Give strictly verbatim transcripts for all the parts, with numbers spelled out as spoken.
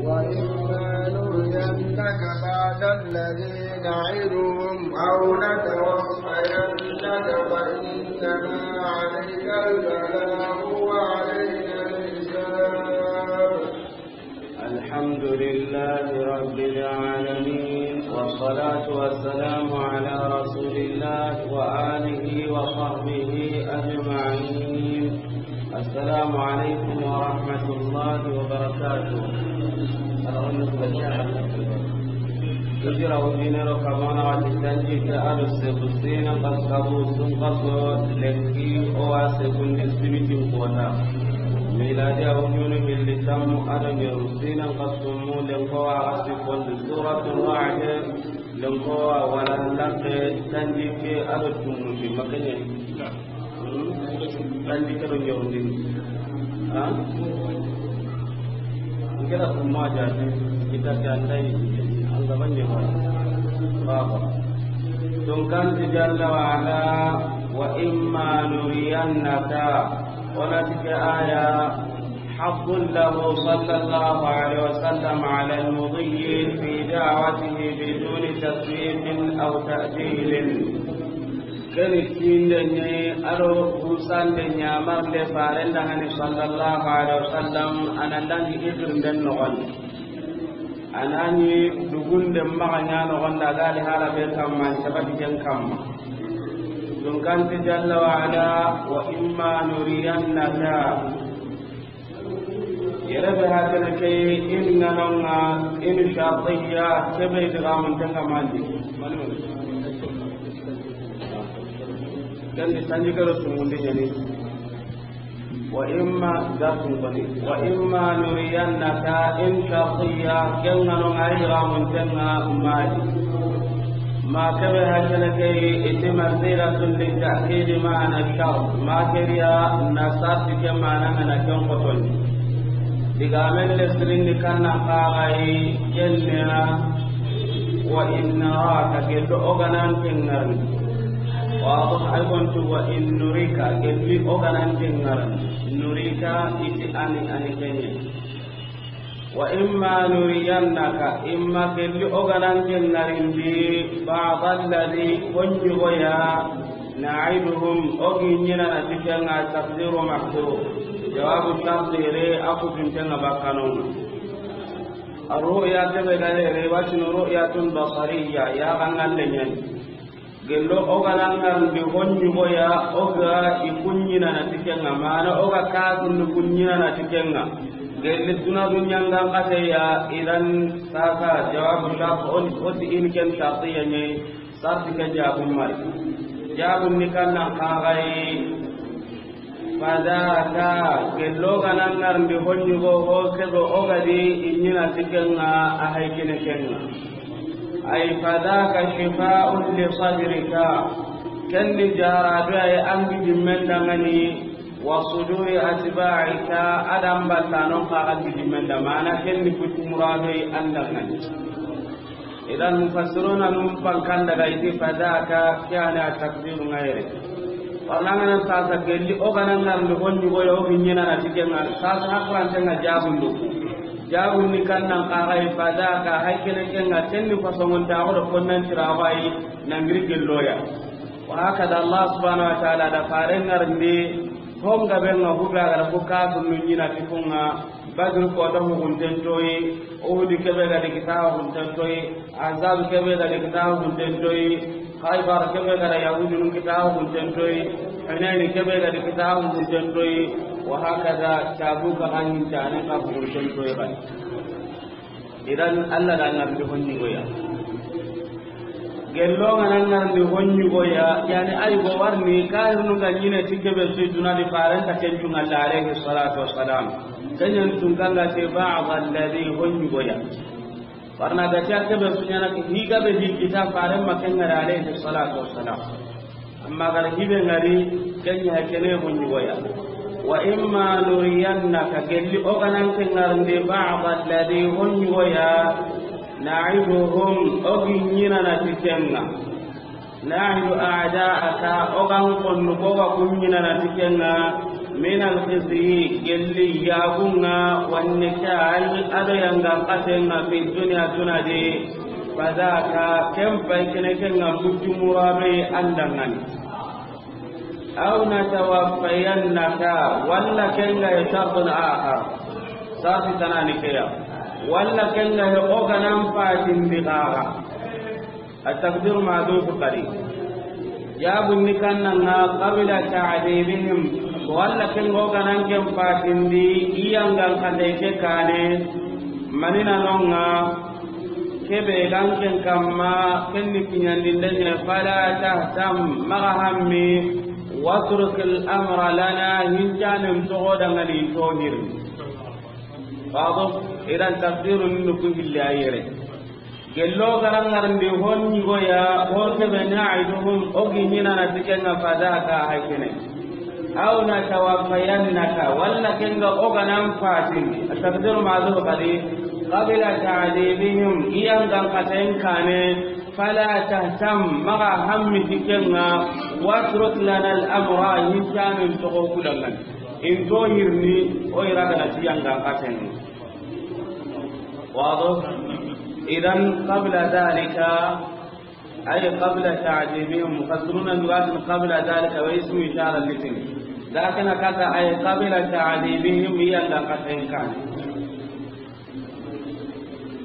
وإما نرينك بعض الذي نعدهم أو نتوفينك فإنما عليك البلاغ وعلينا الحساب. الحمد لله رب العالمين، والصلاة والسلام على رسول الله وآله وصحبه أجمعين. السلام عليكم ورحمة الله وبركاته. Hijira wujinero kamana wati tanjikke ado segu sinan kasu kabu sun kaso lenki o wa segundi sibitin kota. Miladiya wujunu hilli tammu ado ɲeru sinan kasu mu lenko wa a sikkondi Suratul Ra'd. Lenko wa wala lante tanjikke ado tumuti makanya. Tanjikke do ɲewndini. Ha? N kira kuma jati kita jandai. An gaban ne ba. Baba. Tunkan ti jalla wa ala, wa imma nuriyannaka. Ona tike aya. حظ له صلى الله عليه وسلم على المضي في دعوته بدون تسويف أو تأجيل. Keni tinde ni ado kusande ɲamarnde farenda hani sallallahu alaihi wasallam anandangi itirnden noxondi. Anani dugunde maxa ɲa noxonda gali harabe kamma sabati ken kamma. Tunkanti jalla wa ala, wa imma nuriyannaka. Yere be hakana ke in ŋanonga in shartiyya kebe idgamun tenga mandi. Manu. Kandi tanji karo tumundi ɲani. Wa imma gatun koni. Wa imma nuriyannaka in shartiyya ken ŋanonga idgamun tenga mandi. Ma kebe hakana ke iti masiratu litta'kidi ma'ana shart. Ma keriya na sarti ke mana ngana ken kotoni. Digamen le sirinni kanna kaxayi kenya. Wa in naraka gello oganan kengarni. Wa ay gontu wa in nurika gelli oganan kengarni. Nurika iti ani ani kenye. Wa imma nuriyannaka, imma gelli oganan kengarindi, ba'da alladhi, honjugoya, na'iduhum, ogi ɲinana tikenga taqdiru mahdhuf. Jawabu taqdiri, aku tintenga bakanonga. Arru'ya kebe gare, riwayatun ru'yatun basariyya, ya gangalle ɲani. Gello oganan ŋarndi honjugoya, oga i kuɲinana tikenga, mana oga katundu kuɲinana tikenga. Gelli duna duɲangan kateya, idan sasa jawabu shart on, oti in ken shartiya ɲe, sarti ke jabu mari. Jabu ni kannan kagai. Fadaka, gello ganan ŋarndi honjugo ho kebe ogadi i ɲina tikenga a haykine kenga. Ay fadaka shifa'un li sadrika. Kenni jarabe ay angi dimmen dangani wa suduri atba'ika adam battanon ka angi dimmen da mana kenni kutu murado ay andangani. Idan mufassiruna num pankan daga iti fadaka kiyana takdiru ngaire. Warna ngana sasa gelli oganan ŋarndi honjugoya ogi ɲinana tikenga sasa hakurantenga jagundu. Jagundi kannan kagai fadaka haykene kenga tenni fasongonta odo konnan tirawayi nangiri gelloya. Wa hakada Allah subhanahu wa ta'ala da faren ŋarndi honga benga huga gara ko katundu ɲina tikunga. Badr kota hugunten toyi, Uhudi kebe gadi kita hugunten toyi, Ahzab kebe gadi kita hugunten toyi, Khaybar kebe gada Yahudinun kita hugunten toyi, Hunaini kebe gadi kita hugunten toyi, wa hakada Tabuka ganin tane ka hugunten toyi gadi. Idan Allah da ŋarndi honjugoya. Gello ngana ŋarndi honjugoya, yani ay go warni kahirnu ga ɲine ti kebe su duna di farenta kencunga alayhi salatu wassalam. Kenyan tunkanga te ba'd alladhi honjugoya. Warna ga ta kebe su ɲana higa be di kita faren makenga alayhi salatu wassalam. Amma gara hibe ngari kenya kene honjugoya. Wa imma nuriyannaka gelli oganan ke ŋarndi ba'd alladhi honjugoya. Na'iduhum ogi ɲinana tikenga. Na'idu a'da'aka ogan konnu koga kun ɲinana tikenga. من الخزي, gelli yaagun ŋa, والنكال, a do yangan xaten ŋa, في الدنيا, duna di, فذاك, ken pay kene ken ŋa, muccu murabe an da ŋa ni. أو نتوفينك, walla ken ga شرط آخر, sarti tana ni ke ya, walla ken ga o ga nan fatindi xa ga. التقدير محذوف قدي. Jaabun ni kannan ŋa, قبل تعذيبهم, walla ken ga o ga nan ken fatindi, i yangan xate ke kaane, mani na no ŋa, ke be ga an ken kamma, ken ni kiɲandinden ɲa, فلا تهتم, maxa hammi, واترك الأمر لنا, hincanen toxo da ŋa ni, i nto hirni. واضح؟ إذن تقدير ni ku hilli a yere. Gello ga ra ŋarndi hon ɲigoya, hon ke be نعدهم, o gi ɲiina na ti ken ŋa, فذاك, hay kene. أو نتوفينك, walla ken ga o ga nan fatindi. التقدير محذوف قدي. قبل تعذيبهم, i yangan xaten kaane, فلا تهتم, maxa hammi ti ken ŋa, واترك لنا الأمر, hincanen toxo ku da ŋa ni. I nto hirni, o i ra ga na ti yangan xaten ŋa. واضح؟ إذن قبل ذلك، أي قبل تعذيبهم. مفسرون يقولون قبل ذلك واسم إشارة لتن. لكن كذا أي قبل تعذيبهم, i yangan xaten kaane.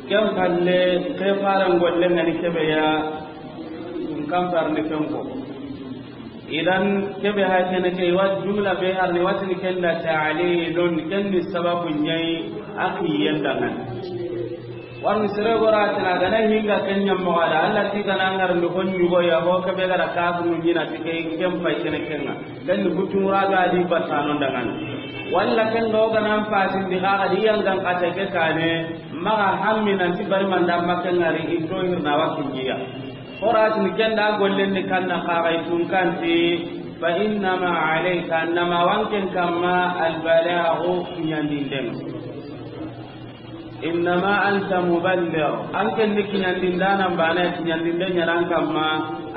Ken palle, ke faran golle ŋa ni ke be ya, tun kan far ni ken ko. Idan ke be ha kene ke, wa jumla be har ni, wa ti ni ken da ta'lilun, ken ni sababu ɲa yi a kiyen da ŋa ni. Wa ni sere go ra ti na ga na hinga ken ɲa mo ga da, Alla ti ga na ŋarndi hon ɲigoya, ho ke be ga ra ka ku ɲiina ti ke, ken pay kene ken ŋa. Ken ni kutu mura ga di batano da ŋa ni. Walla ken ga o ga nan fatindi xa ga di yangan xate ke kaane, maxa hammi nan ti bari manda ma ken ŋari, i nto hirna wa kiɲiya. Horatini ken da gollen ni kannan xa ga i tun kan ti, فإنما عليك, an na ma wa an ken kamma, البلاغ, kiɲandinden. إنما أنت مبلغ, an ken ni kiɲandindaanan baane, kiɲandinden ɲa na an kamma,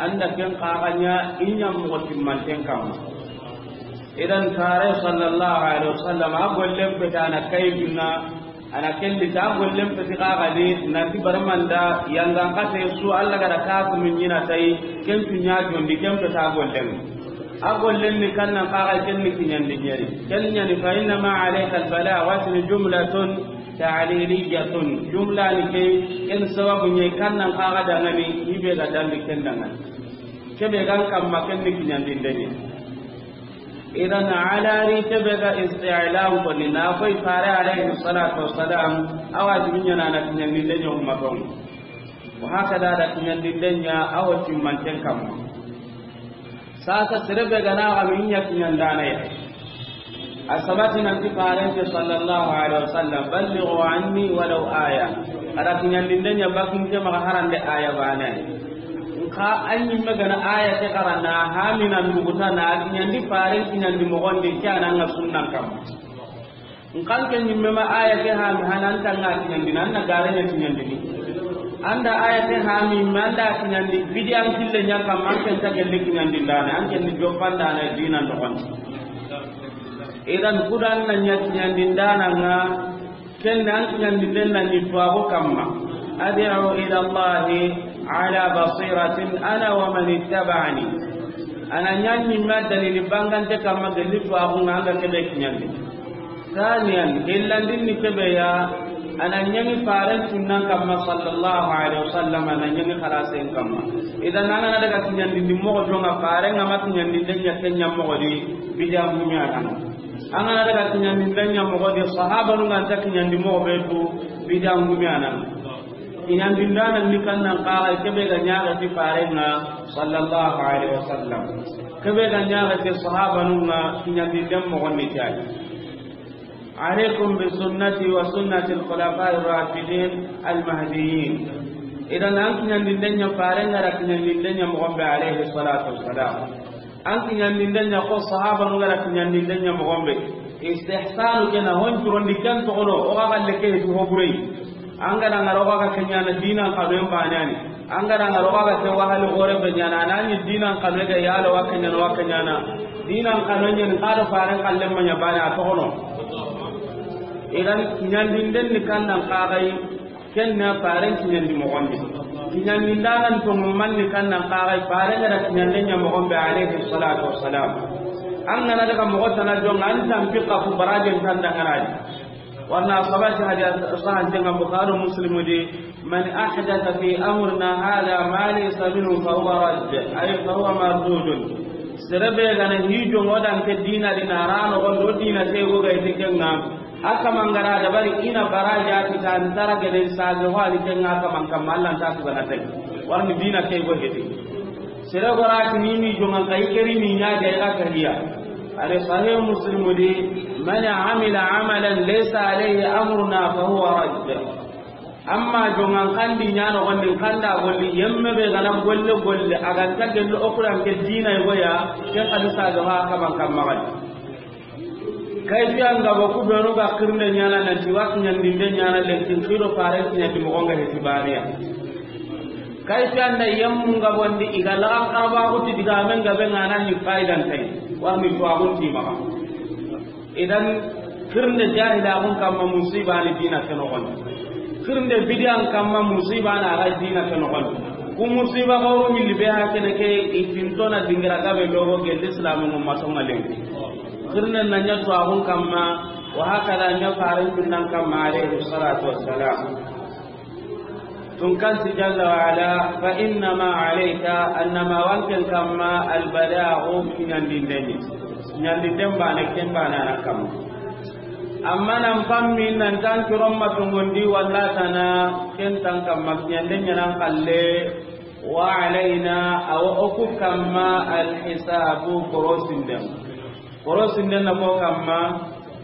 an da ken xa ga ɲa i ɲa moxo timmanten kamma. Idan Faare sallallahu alaihi wasallam, a gollen peti a na kay dunna, a na ken di ta, a gollen peti xa ga di, nan ti bari manda yangan xate su, Alla ga da ka ku ɲiina tay, ken tu ɲa jondi, ken peti a gollen. A gollen ni kannan xa ga, ken ni kiɲandi ɲeri. Ken ɲa ni, فإنما عليك البلاغ, wa ti ni جملة تعليلية, jumla ni ke, ken sababu ɲa yi kannan xa ga da ŋa ni, i be ga dandi ken da ŋa ni. Ke be ga an kamma, ken ni kiɲandinden ɲa. Idan على ri ke be ga isti'lam ko ni, na koy Faare alayhi salatu wassalam, a wajibi ɲa na a na kiɲandinden ɲa ummaton. Wa hakada, a da kiɲandinden ɲa a wo timmanten kamma. Sasa sere be ga na a ga mi ɲa kiɲandaana ya. A sabati nan ti Faaren ti sallallahu alaihi wasallam, بلغوا عني ولو آية. A da kiɲandinden ɲa bakka n ke maxa, harande aaya baane. Nxa an ɲimme ga na aaya ke xara, na hami nan duguta, na kiɲandi Faaren kiɲandi moxon di, ke a na ŋa sunnan kamma. Nxa an ke ɲimme ma aaya ke hami, hana an ta ŋa kiɲandini, an na gare ɲa kiɲandini. An da aaya ke hami, ma an da kiɲandi, bidiyan kille ɲa kamma, an ke nta gelle kiɲandindaana, an ke ni joppandaana diinan noxon di. Idan kudan na ɲa kiɲandindaana ŋa, ken na an kiɲandinden na ni tuwaxu kamma. أدعو إلى الله على بصيرة أنا ومن اتبعني. A na ɲa ɲimme dalili bangante kamma, gelli tuwaxu ŋa, an ga ke be kiɲandi. Saniyan, hillandin ni ke be ya, a na ɲa ni Faaren sunnan kamma sallallahu alaihi wasallam, a na ɲa ni xalasen kamma. Idan an ga na daga kiɲandindi moxo jonŋa, Faaren ŋa ma kiɲandinden ɲa ken ɲa moxo di, bidiyan gumi a na. An ga na daga kiɲandinden ɲa moxo di, sahabanun ga nta kiɲandi moxo be tu, bidiyan gumi a na. Kiɲandindaana ni kannan xa ga, ke be ga ɲaxa ti Faaren ŋa sallallahu alaihi wasallam, ke be ga ɲaxa ti sahabanun ŋa, kiɲandinden moxon ni ke yi. عليكم بسنتي وسنة الخلفاء الراشدين المهديين. Idan an kiɲandinden ɲa, Faaren ga da kiɲandinden ɲa moxon be, alayhi salatu wassalam. An kiɲandinden ɲa ko sahabanun ga da kiɲandinden ɲa moxon be. Istihsanu ke na hon turondi ken toxono, o ga galle ke tu ho bure yi. An ga da ŋara o ga ke ɲaana diinan xanon baane ya ni. An ga na ŋa roga ga ke wahali gore be ɲaana, a na ɲi diinan xanu ga yalo wa ke ɲaana, wa ke ɲaana. Diinan xanu ɲaana, xa do faaren xalle ma ɲa baane a toxono. Idan, ɲandinden ni kannan xaxay, ken na faaren kiɲandi moxon di. Kiɲandindanan to manni kannan xaxay, faaren ga da kiɲanden ɲa moxon be, alayhi salatu wassalam. An ga na daga moxo tana jonŋa, an tampi xa ku barajen tan dangana di. Warna sabati hadis sahan tenga Bukhari Muslim di, "Man ahdatha fi amrina hadha ma laysa minhu fa huwa radd, ay fa huwa mardudun." Sere be ga na hijo ŋo dan ke diina di na ra no gondo diina te go ga ite kenŋa. Aka mangara da bari ina baraja ti tan tara gede sage wali kenŋa ka man kam Allah ta tu ga na te. Warni diina ke go hete. Sere go ra ti ni mi jonŋa kai keri ni ɲa ga ga ka hiya. Are Sahih Muslim di, "Man amila amalan laysa alayhi amruna fa huwa radd." Amma jonŋan kandi ɲa no gondi kanda golli yemme be ga na golle golle a ga ta gello o Qur'an ke diina go ya, ke hadisa ga ma ka man kam magadi. Kayfiyan ga ba ku benu ga xirinde ɲaana nan ti wa kiɲandinde ɲaana lenkin xido faaren kiɲandi moxon ga heti baane ya. Kayfiyan da yemmun ga bondi i ga laxan xaraba ku ti diga men ga be ŋa na ni faidan tay. Warni to agun ti maxa. Idan, xirinde jahilaxun kamma musiba ni diina ke noxon di. Xirinde bidiyan kamma musiba na ga diina ke noxon di. Ku musiba xoro milli be ha kene ke i tintona dingira gabe logo gelli islamu ngum masonga lenki. Xirinde na ɲa to axun kamma, wa hakada ɲa farin tunnan kamma, alayhi salatu wassalam. Tun kanti jalla wa ala, "Fa innama alayka," annama wanken kamma, "al-balaghu," kiɲandinden ni. Kiɲandinden baane, ken baane a na kamma. Amma nan pammi nan tan kiron ma tongondi walla tana, ken tan kamma, kiɲanden ɲanan xalle, "wa alayna," awa oku kamma, "al-hisabu," korosinden. Korosinden na ko kamma,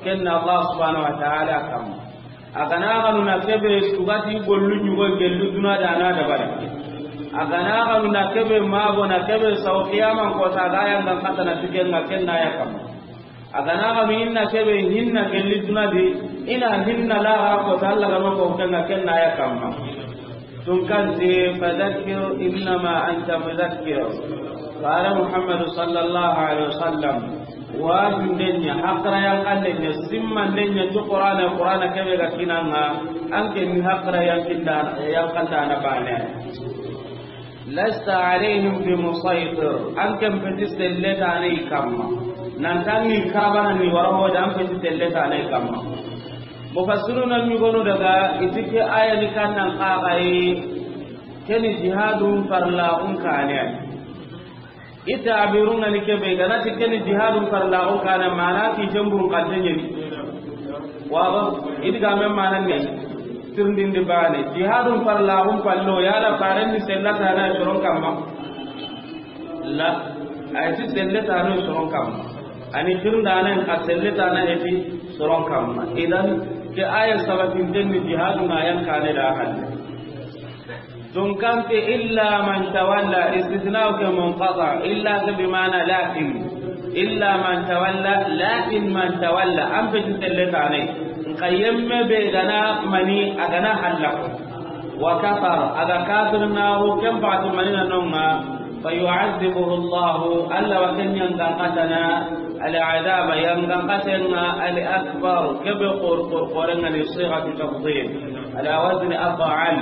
ken na Allah subhanahu wa ta'ala kamma. A ga na xanu na kebe sugati gollu ɲugo gellu duna da na dabari. A ga na xanu na kebe mago na kebe saw qiyaman ko ta ga yangan katana tiken ŋa ken na ya kamma. A ga na xanu inna kebe hinna gelli duna di, ina hinna la ga ko ta Allah ga no ko ken ŋa ken na ya kamma. Tun kanti, "Fadakkir innama anta mudakkir." Fare Muhammadu sallallahu alaihi wasallam, wajunde ɲa, hakra yanqande ɲa, simmande ɲa, ti Qur'ana, Qur'ana kebe ga kinanga, anke ni hakra yanqinda, yanqanda na bane. "Lasta alaihim bi musaytir," anke peti selle tane i kamma. Nan tangi karabana ni wara hoda, an peti selle tane i kamma. Mufassiruna ɲugonu daga, i ti ke aya ni kannan kaxayi, keni jihadun farlaxun kane. I tabirun ŋa ni kebe, i ga na ti keni jihadun farlaxun kane, mana ki jembun kante ɲeni. Waba, i di ga men mana ne, tirindindi bane. Jihadun farlaxun pallo, yala faren ni sella tana soron kamma. La, a yi ti selle tano soron kamma. Ani tirindana ka selle tana heti soron kamma. Idan, ke aya sabatinten ni jihadu na yan kane da halle. Tun kanti illa man tawalla, istisna ke munqata, illa ke bi mana lakin. Illa man tawalla, lakin man tawalla. An peti selle tane. Nka yemme be gana mani a gana hallako. Wa kafar, a ga kafir naxu, ken paxati manina nonga, fa yu'adhibuhu Allahu, Allah wa ken yangan katana, al-adhaba, yangan katenga, al-akbar, kebe xor, xor, xorenga ni sighatu tafdhil, ala wazni af'al.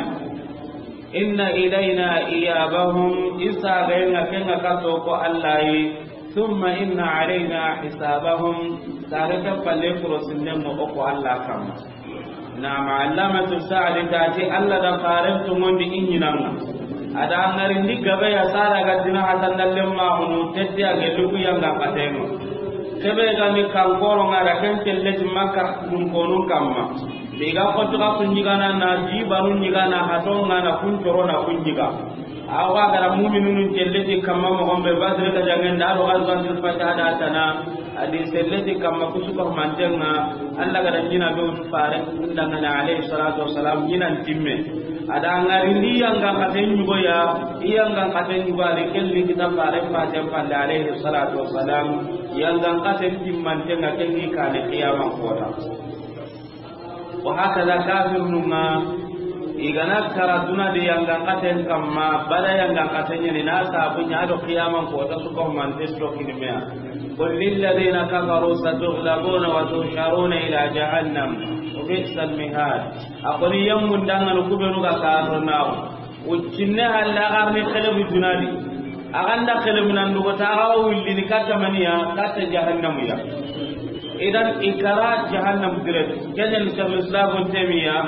Inna ilayna iyabahum, isa ga yenga kenga kato ko Allah yi, thumma inna alayna hisabahum, sare ke palle kuro sinnen mo ko Allah kamma. Naam, Allamatu Saadi ta ti Allah da faren tungondi i ɲinanga. A da ŋarindi gabe ya sara ga dina hatan dallen maxunu tette a gellu ku yanga katengo. Kebe ga ni kankoro ŋa da ken telleti Makka dun konun kamma. Be ga xottu ga kun ɲigana na di banu ɲigana hatonga na kun coro na kun ɲiga. Awa gara mu'minun telleti kamma moxon be Badri ga jangen da do Ghazwatul Fath da tana. Adi selleti kamma kusuka mantenga, Allah gada ɲina be fare ndangana alayhi salatu wassalam ɲinan timme. Ada ŋarindi yangan katen ɲugo ya, iyangan katen ɲugo adi kelli kita fare faten palle alayhi salatu wassalam, yangan katen timmantenga kengi kane qiyaman kota. Wa hakada kafirnunga, I ga na kara duna di yangan katen kamma, bada yangan katen ɲa ni na sabu ɲa do qiyaman ko ta su ko man te su do kini me ya. قل للذين كفروا ستغلبون وتحشرون إلى جهنم وبئس المهاد. A ko ni yammun dangana ku be nu ga kafir na. Uccinne halla garni xelebu duna di. A ganda xelebu nan dugo ta ga wulli ni katta maniya, katta jahannamu ya. Idan i kara jahannam dire. Ganyan Shaykhul Islam Ibn Taymiyyah,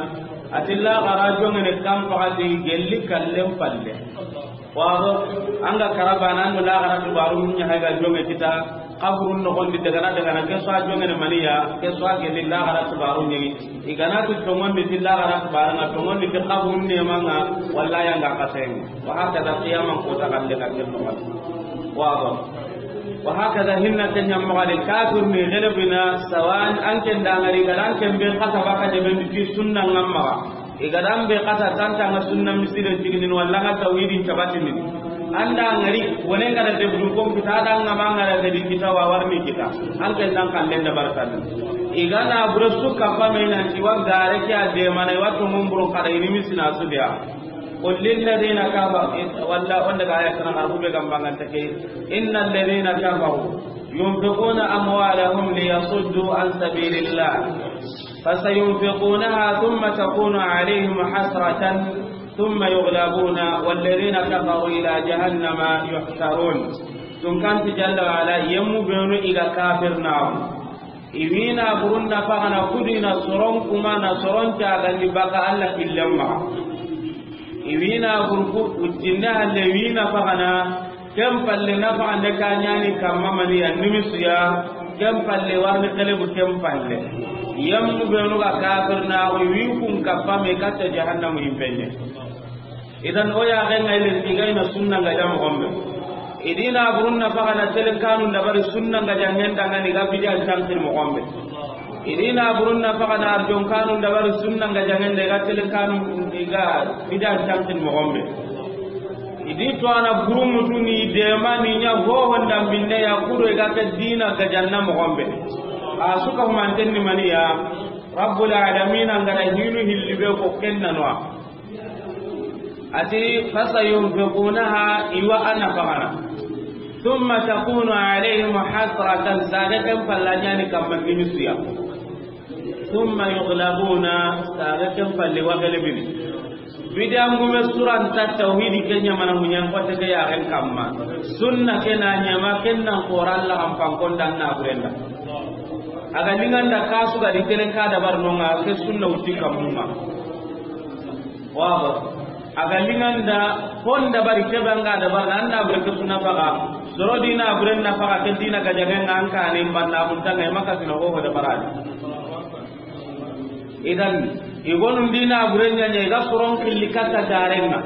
a ti laxara jongene kan paxati gelli kallen palle. Wago, an ga kara bana, an do laxara tubaru mun ɲa hayga jonge kita, kaburun noxon di dagana dagana, ke so a jongene maniya, ke so a gelli laxara tubaru ɲegi. I ga na tu tongon di ti laxara tubaru ŋa, tongon di ti kaburun ne manga, walla yanga kasen. Wa hakada qiyaman ko ta kande ka ken noxon. Wago. Wa hakada hinna ken ɲamma gadi kafir ni xelebina sawan an ken dangari ga an ken be xata baka de ben ti sunna ŋamma. I ga dan be xata tanta nga sunna misire tiginin walla nga tawhidin tabatini. An dangari wone nga da debdu ko kita da nga ma nga da de kita wa warni kita. An ken dan kan den da barkan. I ga na bure su kappa me nan ti wa gare ke a de mana wa to mun buru kada ini misina su dia. قل للذين كفروا, walla wanda ga aya kana arbu be gambangan take. إن الذين كفروا ينفقون أموالهم ليصدوا عن سبيل الله فسينفقونها ثم تكون عليهم حسرة ثم يغلبون والذين كفروا إلى جهنم يحشرون. Tun kanti jalla wa ala, yemmu benu i ga kafir na. I wina burun na fagana kudina soron kuma na soron cagandi baka Allah killemma. I wina burku uccinne halle wina fagana ken palle na fagande kanyani kamma mani ya nimisuya ken palle warni kelebu ken palle. Yammu benu ga kafir na i wi kun kappa me katta jahannamu impenye. Idan o ya ga ngai le diga ina sunna nga jam gombe. Idina burun na fagana telen kanu da bari sunna nga jangen dangani ga bidiyan tankin mo gombe. Idina burun na fagana arjon kanu da bari sunna nga jangen de ga telen kanu ga bidiyan tankin mo gombe. Idi to ana burun mutuni de mani nya ho honda binne ya kudo ga ke dina ga janna mo gombe. A suka manten ni maniya. Rabbul alamin an ga da hinu hilli be ko kenna no. Ati, فسينفقونها, iwa ana fagana. ثم تكون عليهم حسرة, sage ken palla ɲani kamma nimisuya. ثم يغلبون, sage ken palle wa gelebini. Bidangume suranta tawhidi ke ɲamana muɲan kote ke yaren kamma. Sunna ke na ɲama ken nan koralla an pankon dan na burenda. A ga linganda kasu ga di telen ka dabar nonga ke sunna uti kammunga. Wabo. A ga linganda honda bari ke banga da barna anda bure ke suna faga. Soro dina bure na faga ke dina ga jaga nga an ka ne banna mun tanga maka sina ho da barani. Idan, igonun dina bure nya nya ga soron killi kata garenga.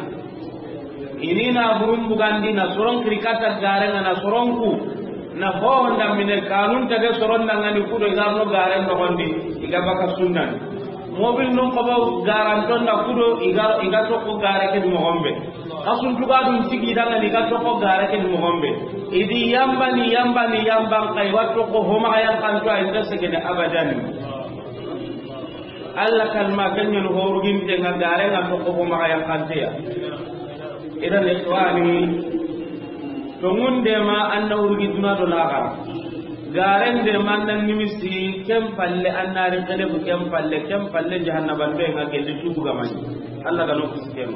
Ini na burun bugandi na soron kiri kata garenga na soron ku. Na ho honda mine kanun tage soron dangani kudo igarno garen no gondi iga baka sunnan. Mobil nun ko ba garanton da kudo iga, iga to ko gare ke mo gombe. Kasun tuga dun sigi dangani iga to ko gare ke mo gombe. Idi yamba ni yamba ni yamba kai watto ko homa yan kanto ay tasege de abadan. Allah kalma kanyen horuginte nga gare nga to ko homa yan kantiya. Idan ikhwani, to ngunde ma anna urgi duna do laxara. Garen de man nan nimisi ken palle anna ri kede bu ken palle, ken palle jahannaba be nga gelli tubu ga mani. Allah ga no kusiken.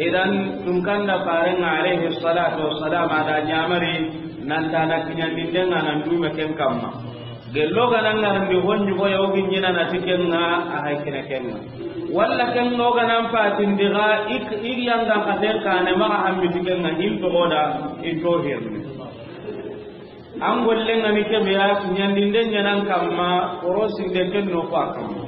Idan tun kanda farenga alayhi salatu wassalam ada nyamari nan tana kinyan dindenga nan dume ken kamma. Gello ga nan ngarandi hon ɲugo ya, o gi ɲina na ti kenga a hay kene kenga. Walla kenga o ga nan patindi ga ik, ik yanga ka ten kane maga hammi ti kenga in to goda in to hirni. An golle ngani kebe ya ɲandinde ɲanan kamma korosinde ken no ko a kamma.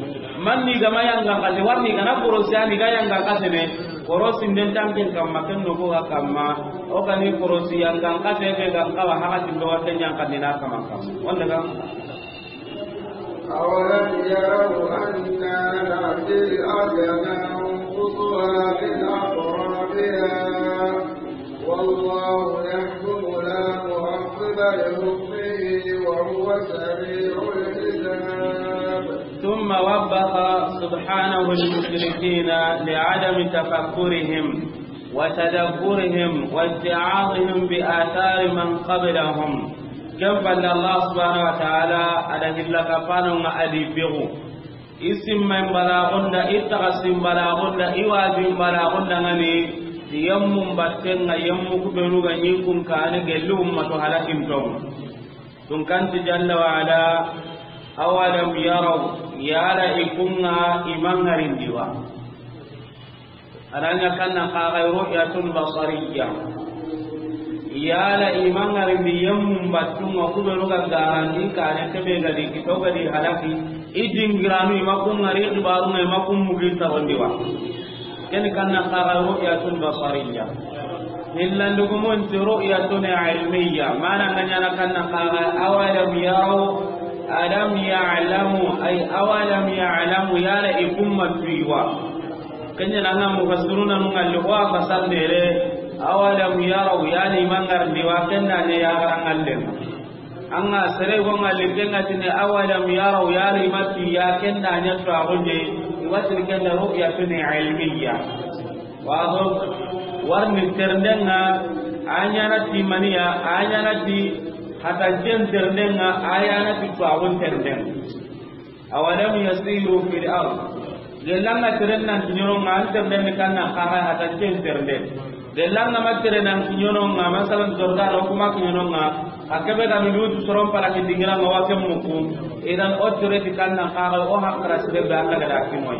Manni gama yanga kate warni gana korosi ani ga yanga kate ne. Korosi nden tanken kamma ken no ko ga kamma. O kani korosi yanga kate be ga kawa hakati ndo wate ɲan kanina kamma kamma. Wanda ga. أولم يروا أنا نأتي الأرض ننقصها من أطرافها والله يحكم لا معقب لحكمه وهو سريع الحساب. ثم وبخ سبحانه المشركين لعدم تفكرهم وتدبرهم واتعاظهم بآثار من قبلهم. Ken palle, Allah subhanahu wa ta'ala a da hilla kapano nga a di begu. I simma in balaxunda, i taxa sin balaxunda, i waji in balaxunda ngani, yemmun batten nga, yemmu kubenu ga ɲi kun kane gelli ummato halakin tonga. Tun kanti jalla wa ala, awalam yaraw, yala i kunga i mangarindi wa. Aranya kanna kaga ru'yatun basariyya. Yala i mangarindi yemmun battunga kubenu ga garandi kane kebe gadi kito gadi halaki. I dingiranu i ma kun ngari xibarunga i ma kun mugin tarondi wa. Ken kanna kaga ru'yatun basariyya. Hillandugumun ti ru'yatun ilmiyya. Mana nga ɲana kanna kaga awalam yaraw, alam ya'lamu, ay awalam ya'lamu, yala i kumma tuiwa. Kenya nanga mufassiruna nunga li wa fasandere, awalam yaraw, yala i mangarndi wa kenda ne ya garangallen. Anga sere go ngalli kenga tini awalam yaraw, yala i matti ya kenda nya to agonde, i watini kenda ru'yatun ilmiyya. Wado warni terdenga, anyana ti maniya, anyana ti hatajen terdenga, ayana ti tuagun terdenga. Awalam yasiru fil ard. Gelanga teren nan kiɲononga, an terden kanna kaga hatajen terden. Gelanga ma teren nan kiɲononga, masalan Jordan o kuma kiɲononga, a kebe ga minutu soron pala ki dingiranga wa ken muku. Idan o tereti kanna kaga o hakra sire be anga da kimoy.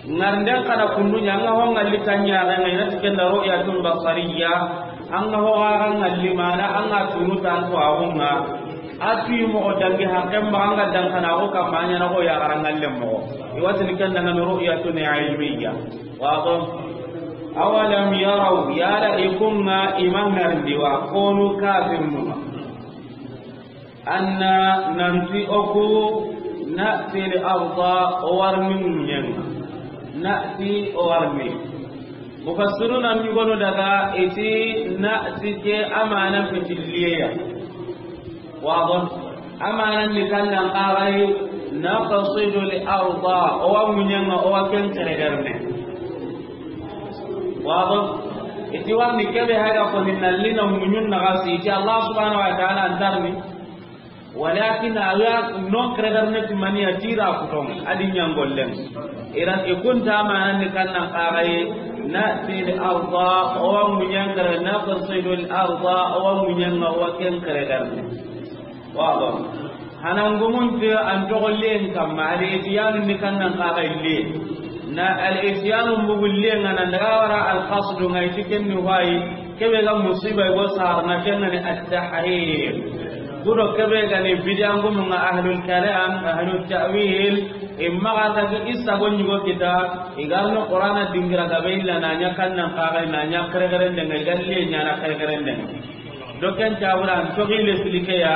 Ngarnden kana kundunya anga ho ngalli tanya ga ngai na tikenda ru'yatun basariyya. Anga ho ga ngalli mana anga tunu tan to awunga. Atu mo dangi hakem ba anga dan kana ko kamanya na ko ya garangalle mo. Iwatini kenda ngani ru'yatun ilmiyya. Wado. Awalam yaraw, yala i kunga i mangarndi wa konu kafirnuma. Anna nanti oku na'ti al-arda o warni ŋuɲenga. Na'ti o warni. Mufassiruna ɲugonu daga iti na'ti ke amana fitilliya. Wado. Amana ni kannan kagai naqsidu al-arda o wa ŋuɲenga o wa ken keregarne. Wado. Iti warni kebe haga ko ni nallina ŋuɲun na gasi iti Allah subhanahu wa ta'ala antarni. Walakin awa non kregar ne timani a tira kuton adi ɲangollen. Iran ikunta manan ni kannan kagaye na'ti al-arda o wa ŋuɲen kare naqsidu al-arda o wa ŋuɲen o wa ken kregar ne. Wado. Hanangumun te an togo len kamma al-ityanu ni kannan kagaye le. Na al-ityanu mbugu lenga nan daga wara al-qasdu ngai tiken ni wayi. Kebe ga musiba go sarna kengani at-tahrir. Gudo kebe gani bidiyangumunga ahlul kalam, ahlul ta'wil, imma ga ta isa go ɲugo kita, igarno Qur'ana dingira gabe illa na ɲa kannan kagai na ɲa keregerende ngai galle ɲa na keregerende. Doken tawuran togi le silikeya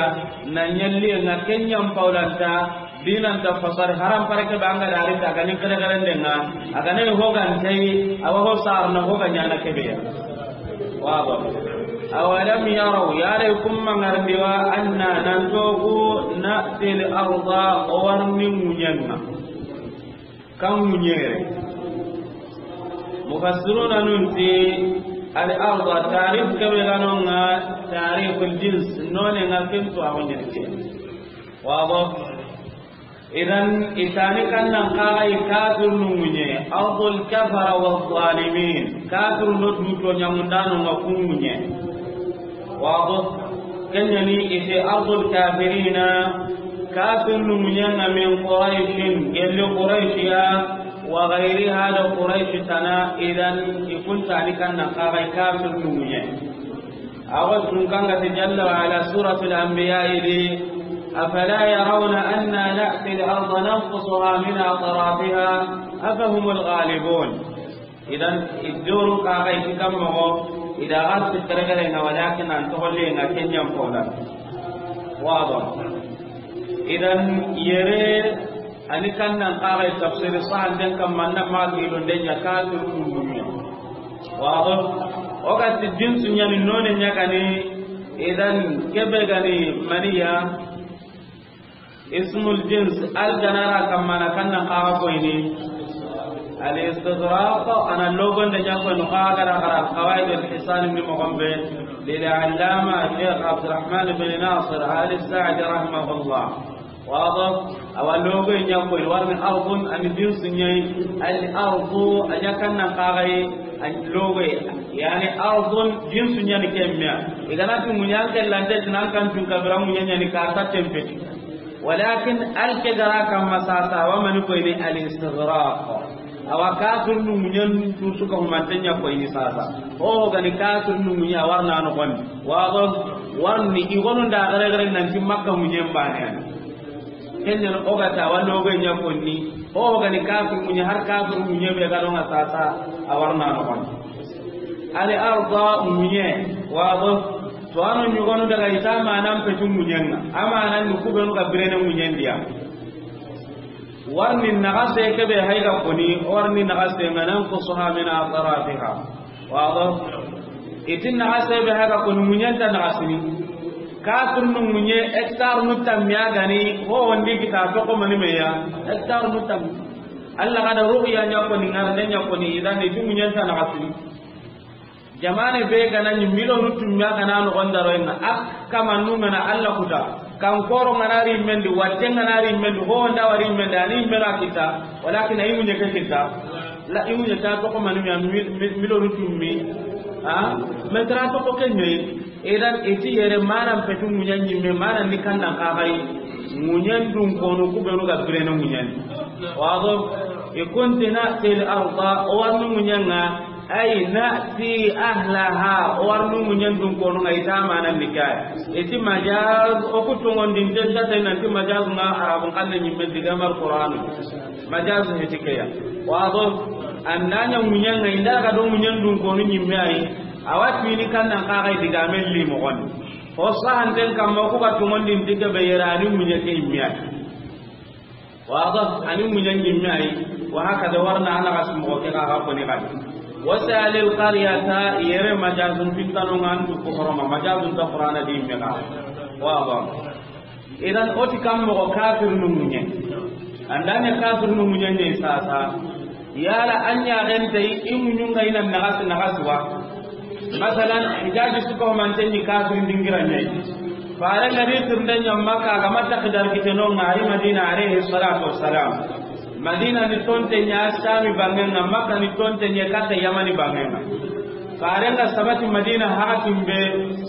na ɲalle na kenyam paulanta. Dinan ta fasar haram pare ke banga dari ta gani kare kare denga. Agane ho gan tai awa ho sar na ho ganya na kebe ya. Wado. Awalam yaraw yare kumma ngarndi wa anna nan togu na'ti al-arda o warni ŋuɲenga. Kan ŋuɲere. Mufassiruna nunti al-arda tarif kebe ganonga tarif al-jins none nga kintu a wonde. Wado. Idan itani kannan kagai kafirnu ŋuɲe ardul kafara wa zalimin kafirnu duto ɲamundano nga ku ŋuɲe. Wado. Kenyani ite ardul kafirina kafirnu ŋuɲenga min quraishin gelli quraishiya wa ghairiha da quraishi tana idan ikuntani kannan kagai kafirnu ŋuɲe. Awa tunkanga ti jalla wa ala suratul anbiya idi. Afala yarawna anna na'ti al-arda nanqusuha min atrafiha afahumul ghalibun. Idan idurun kagai kikan mogo ida gasi keregere nga walakin an togolle nga kenyan pola. Wado. Idan yere ani kannan kagai tafsir sahan den kam manna ma gilon den ya kafir kundumi. Wado. Oga ti jinsu ɲani none ɲagani. Idan kebe gani maniya ismul jins al ganara kammana kannan kaga koyni. Al-istighraq, a na logonde ɲa ko no xagara xara Qawaid al-Hisan ni moxo be, lil allama Sheikh Abdurrahman bin Nasir Al Sa'di rahimahullah. Wado, awa logo ɲa ko, warni ardun, a ni jinsu ɲa yi. Al ardu, a ɲa kan nan xaxay, a logo, yani ardun jinsu ɲa ni kemmiya. I ga na tu muɲan ke lante nan kan tun kabira muɲan ɲa ni ka ta tempeti. Walakin al ke gara kamma sasa, wa mani koyni al-istighraq. Awa kafirnu muɲen tu su ka humanten ɲa koyni sasa. O gani kafirnu muɲa warna no gon. Wado, warni i gonu nda gare gare nan ti Makka muɲen bane. Ken ɲa o ga ta wa logo ɲa konni. O gani kafir muɲe, har kafir muɲe be ga do ŋa sasa, a warna no gon. Al arda muɲe, wado. To anu ɲugonu daga i ta manan petu muɲen ŋa. A manan ni ku benu ga birene muɲen diya. Warni naxase ke be hay ga koni, warni naxase ŋa nanqusuha min atrafiha. Wado. I ti naxase be hay ga koni muɲen ta naxasini. Kafirnu muɲe hectare nu tammiya gani, ho wondi kita to ko mani meya. Hectare nu tammi. Allah ga da ru'ya ɲa koni, ŋarne ɲa koni, idan i ti muɲen ta naxasini. Jamane be ga na ɲi milonu tummiya ga na no gonda ro inna ak kama nu ŋa na Allah kuta. Kan koro ŋa na ri mendi, watte ŋa na ri mendi, ho nda wari mendi, ani mera kita. Walakin ayi muɲe ke kita. La i muɲe ta to ko mani mi, mi, milonu tummi. Ha? Metra to ko kenye. Idan i ti yere manan petu muɲa ɲimme, manan ni kan nan xaxay muɲen dun konu ku benu ga birene muɲen. Wado, i kunti na'ti al arda, o warni muɲen ŋa, ay na'ti ahlaha, o warni muɲen dun konu ŋa, i ta manan ni kay. I ti majaz, o ku tongondinten ta te nan ti majaz ŋa Arabun xalle ɲimme diga mar Qur'anu. Majaz heti keya. Wado, an na ɲa muɲen ŋa, i nda ga do muɲen dun konu ɲimme ay. Awa tini kan nan xaxay diga men li moxon. Ho sahanten kamma ku ga tongondin diga be yere ani muɲe ke ɲimme ay. Wado, ani muɲe ɲimme ay. Wa hakada warna a naxasi moxo ke ga ga koni gadi. Was'al al qaryata, yere majazun fintano ŋa an du ko horoma, majazun ta Qur'ana di me ga. Wado. Idan o ti kam moxo kafirnu muɲe. An da ɲa kafirnu muɲe ɲa sasa. Yala an ɲa gente i muɲun ŋa i na naxasi naxasi wa. Masalan, Hijaji su ko manten ni kafirin dingira ɲa. Fare ŋa ri tirnde ɲa Makka ga ma ta xidar kiteno ŋa ri Madina alayhi salatu wassalam. Madina ni tonte ɲa Sami bangen ŋa, Makka ni tonte ɲa kata Yamani bangen ŋa. Fare ŋa sabati Madina hakatin be,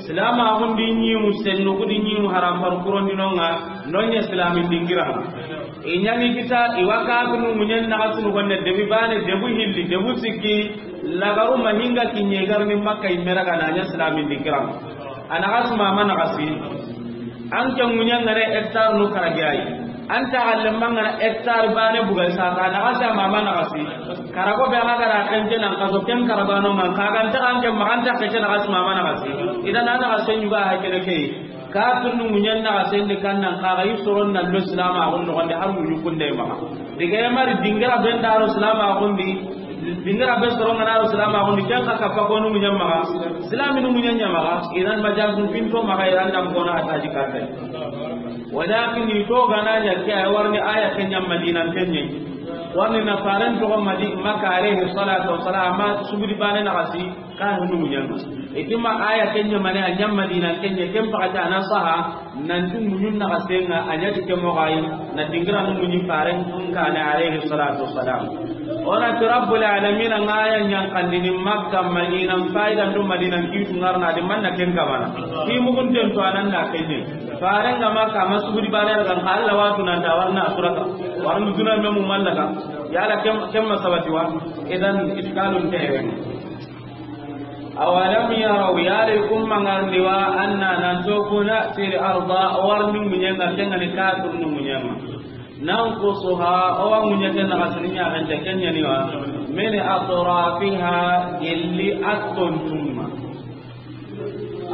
silama gundi ɲimu sennu gudi ɲimu haram par kurondino ŋa, no ɲa silamin dingira ŋa. I ɲa ni kita, i wa kafirnu muɲen naxasunu gonne debi bane, debu hilli, debu sikki, lagaru mahinga kiɲe garni Makka i mera ga na ɲa silamin dingira ŋa. A naxasi mama naxasi. An ke muɲen ŋa ne hectare nu karagi ay. An ta galle mangana hectare bane buga sasa naxasi a mama naxasi. Karago be an ga ra kente nan kaso ken karagano ŋa ka ga nta an ke maxa an ta kete naxasi mama naxasi. Idan an naxase ɲuga ha kene ke. Kafirnu muɲen naxase ndi kan nan xaxa i soron na lo silama gon no gonde har muɲu kunde maxa. Diga ya mari dingira ben daro silama gundi. Dingira be soro ŋa na ro silama gundi ken ka kappa konu muɲen maxa. Silaminu muɲen ɲa maxa. Idan majazun finto maxa iran dam kona ataji karte. Walakin i to ga na ɲa ke ay warni aya ke ɲa Madina ke ɲa. Warni na faren to Madi-, Makka alayhi salatu wassalam, amma subudi bane naxasi. Kafirnu muɲen ŋa. I ti ma aya ke ɲa mane a ɲa Madina ke ɲa ken pakati a na saha. Nanti muɲun naxasen ŋa a ɲa ti ke moxo ay. Na dingiranu muɲi faren kaane alayhi salatu wassalam. O na ti Rabbul alamin ŋa aya ɲa n kandini Makka Madina fayda ndu Madina kitu ŋarna di manna ken kamana. Ki mugunten to anan na ke ɲa. Faren ŋa Makka ma subudi bane daga Allah watu nan da warna suraka. Warnu duna memu mallaka. Yala kem, kem masabati wa. Idan iskalun tere. Awalam yaraw, yala i kun ma ŋarni wa, anna nan to ku na'ti al arda, o warni muɲen ŋa, ken ŋa ni kafirnu muɲen ŋa. Nanqusuha, o wa muɲe ke naxasini ɲaxente ke ɲa ni wa, min atrafiha, gelli a tontun ŋa.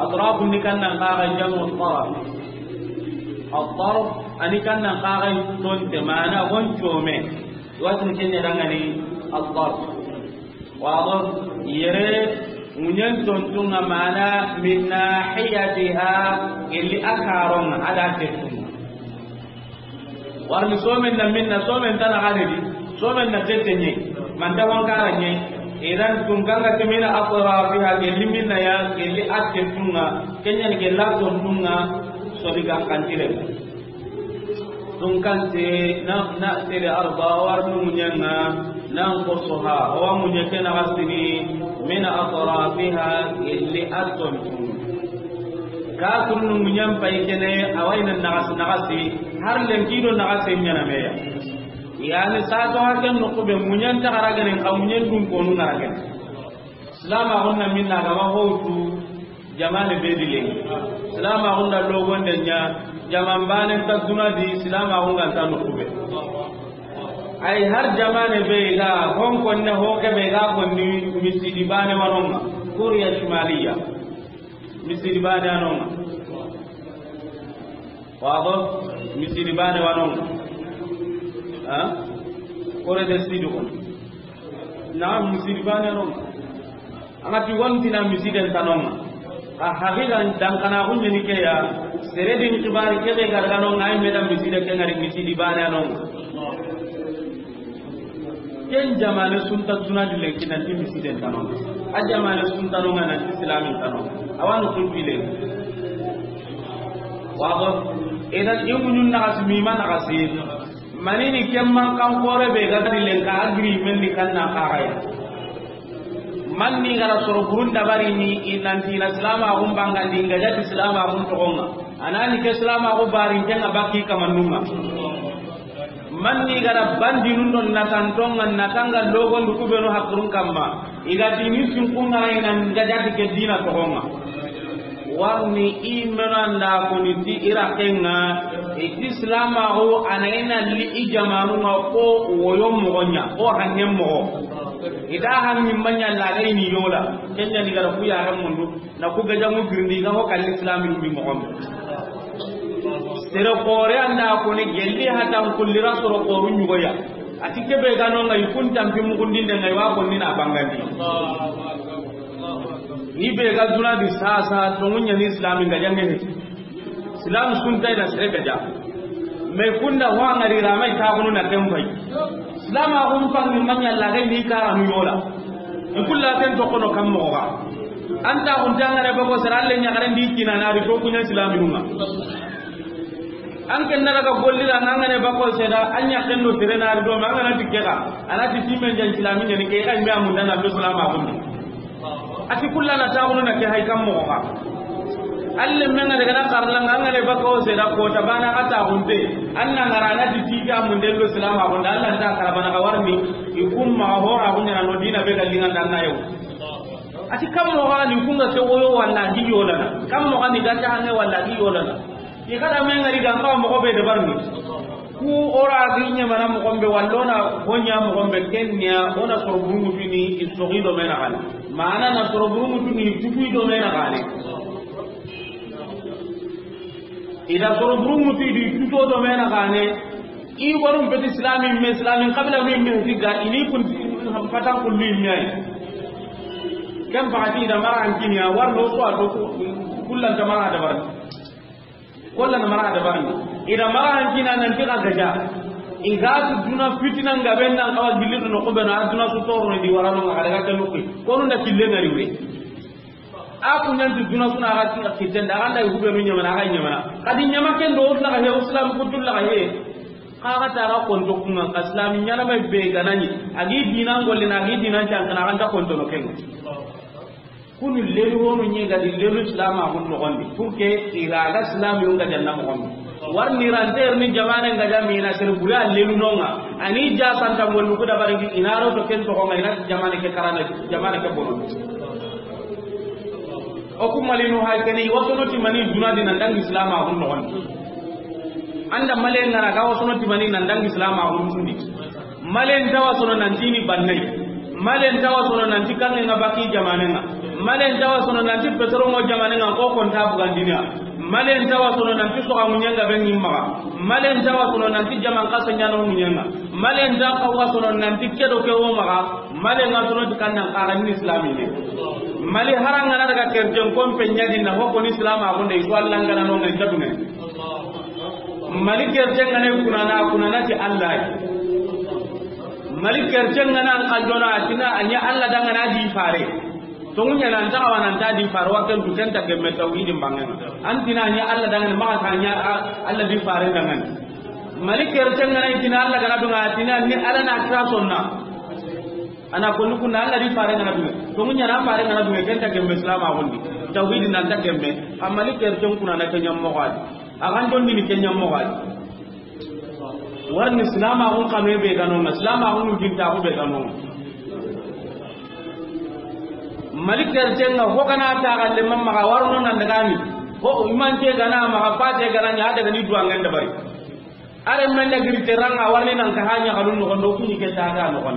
Atraf ni kan nan xaxa jamu taraf. Al taraf ani kan nan xaxa tonte, mana gon come. Watin ke ɲa dangani al taraf. Wado, yere muɲen tontun ŋa mana min nahiyatiha, gelli a karon ŋa a da tettun ŋa. Warni somen na minna, somen tana xaridi, somen na tette ɲe. Manta wankara ɲe, idan tunkan ga ti mina atrafiha, gelli minna ya, gelli atte tunga, kenya ni gella ton tunga, so di ga kantire. Tunkan te na, na tere arba war nu munyanga, nan ko soha, wa munye ke na gasini, mina atrafiha, gelli aton tunga. Ka tunnu munyan pay kene, awai nan nagas, nagasi, har lenki do nagasi nyana meya. Yani sato haken no kube munyan ta garagene, ka munyan dun konu garagene. Silama gonna minna gama hotu jamane be dile. Silama gonna logonde nya jaman bane ta duna di, silama gonna ta no kube. Ay har jamane be ga hon konne ho ke be ga konni misidi bane wanonga. Korea Shimaliya. Misidi bane anonga. Wabo, misidi bane wanonga. Ha? Kore de sidu ko. Na misidi bane anonga. Anga ti wonti na misiden tanonga. A haqiqa dan kana kunye ni ke ya. Sere din kibari ke be gargano ngai me da miside ke ngari misidi bane anonga. Ken jamane sunta duna di lenki nanti misiden tano. A jamane sunta no nga nanti islamin tano. Awanu kun pile. Wabo, idan imunyun nagasi mima nagasi. Manini kemman kan kore be ga di lenka agri men ni kanna kagaya. Manni gara soro burun dabari ni inanti na silama gun bangandi nga jati silama gun togonga. Anani ke silama gun barin kenga baki kamanunga. Manni gara bandi nun don natantonga natanga logon du kubenu hakurun kamma. Iga dini sinkunga ina nga jati ke dina togonga. Warni i menanda koni ti irakenga, iti silamaxu ana ina li i jamanunga ko woyo moxoɲa, ko hangen moxo. Ita hangi maɲa laga ini yola, kenya ni gara ku yaren mundu, na ku gajamu girindi ga ho kalli islami ni moxon. Sere xore anda koni gelli hatan kullira soro xoru ɲugoya. Ati kebe ganonga i kun tampi mugundinde ngai wa konni na bangandi. Ni be ga duna di sasa, tongunya ni islami nga jange he. Islam sunta ina sere gaja. Me kunda ho ngari ramai ta kunu na kembai. Islam a kun pangi manya lagai ni kara nu yola. Ikulla ten to kono kam mo ga. Anta kun tangare bako saralle nya garen di kina na ri to kunya islami nunga. An ken na daga golli da, an ga ne bako seda, an ya ken do tere na do, an ga na tikke ka, ana ti timen jan silami ne ke ka, me amun dana do salama kun. Ati kullana ta na ke hay kam mo ka. Alle men ga daga na karla, an ga ne bako seda ko ta bana ka ta hunde. An na ngara na ti tiga mun den do salama kun, Allah ta karabana ka warni. Ikum ma hora kun na no dina be ga linga dan na yo. Ati kam mo ga ni kunga ke woyo walla gi yolana. Kam mo ga ni ga ta ne walla gi yolana. I kada me ngari ga kawa moxo be dabarni. Ku ora gi ɲamana moxo be wallona honya moxo be kenya ona soro burungutini i sogi do mena gane. Mana na soro burungutini tugu do mena gane. Ida soro burunguti di tuto do mena gane. I warum beti islami me islami qabila mi me tiga ini kun patan kulli mi ay. Kan fati da mara an kiniya warno so ato kullan da mara dabarni. Kollan mara dabarni. Ida mara an kina nan tiga gaja. Iga tu duna fitina nga ben nan kawa gilli no ko ben aduna su toro di warano nga daga kanu ko. Kono da kille ngari we. A ku ɲanti duna suna ga ti kitten da ganda hube nu ɲamana ga ɲamana. Kadi ɲama ken do la ga he islam kutul la ga he. Ka ga ta ga konto kunga ka islam ɲana mai be ganani. Agi dinan golle na agi dinan can kana ganta konto no ken. Kunu lelu wonu ɲi ga di lelu islam a kun no gondi. Pour que iraga islam yunga janna mo gondi. Warni ranter ni jamane nga jamina sere buri a lelu nonga. Ani ja santa molu ku da baringi inaro to ken to ko nga ina jamane ke karana jamane ke bono. O ku malinu hay kene wasono ti mani duna di nan dangi islam a hun no. Anda male ngara ga wasono ti mani nan dangi islam a hun sundi. Male ntawa sono nan tini bannai. Male ntawa sono nan ti kanne nga baki jamane nga. Male ntawa sono nan ti petro mo jamane nga ko konta bugandinia. Male ntawa sono nan ti soga munyanga ben ngimma. Male ntawa sono nan ti jaman kasa nyano munyanga. Male ntawa sono nan ti kedo ke wo maga. Male nga sono ti kannan kaga ni islami ne. Mali haranga na daga kerjen kon pe ɲadi na hokko ni islam a gonde iso Allah ngana no ngai jadune. Mali kerjen ngane kunana kunana ti Allah. Mali kercen ŋa na an xanjona, a ti na a ɲa Alla danŋa na di fare. Tonŋu ɲa na an taxa wa na an ta di fare, wa ken tu ken ta gemme tawhidin banŋen ŋa. An ti na a ɲa Alla danŋa, maxa ta ɲa a-, Alla di fare danŋa. Mali kercen ŋa na i ti na Alla ga na duŋa, a ti na ni Alla na kira sonna. A na ko nuku na Alla di fare ga na duŋa. Tonŋu ɲa na fare ga na duŋa, ken ta gemme silamaxun di. Tawhidin na an ta gemme. A Mali kercen kuna na ken ɲa moxo a di. A xanjon di ni ken ɲa moxo a di. Warni silamaxun xame be ga no ŋa, silamaxun nu jintaxu be ga no ŋa. Mali kercen ŋa, ho ga na taxalle ma maxa, warno nan daga ni. Ho imante ga na maxa, pate ga na ɲa, a daga ni duwangen dabari. Are men da giri teranga, warni nan ka hanya xalun noxon do, kuɲi ke ta ga noxon.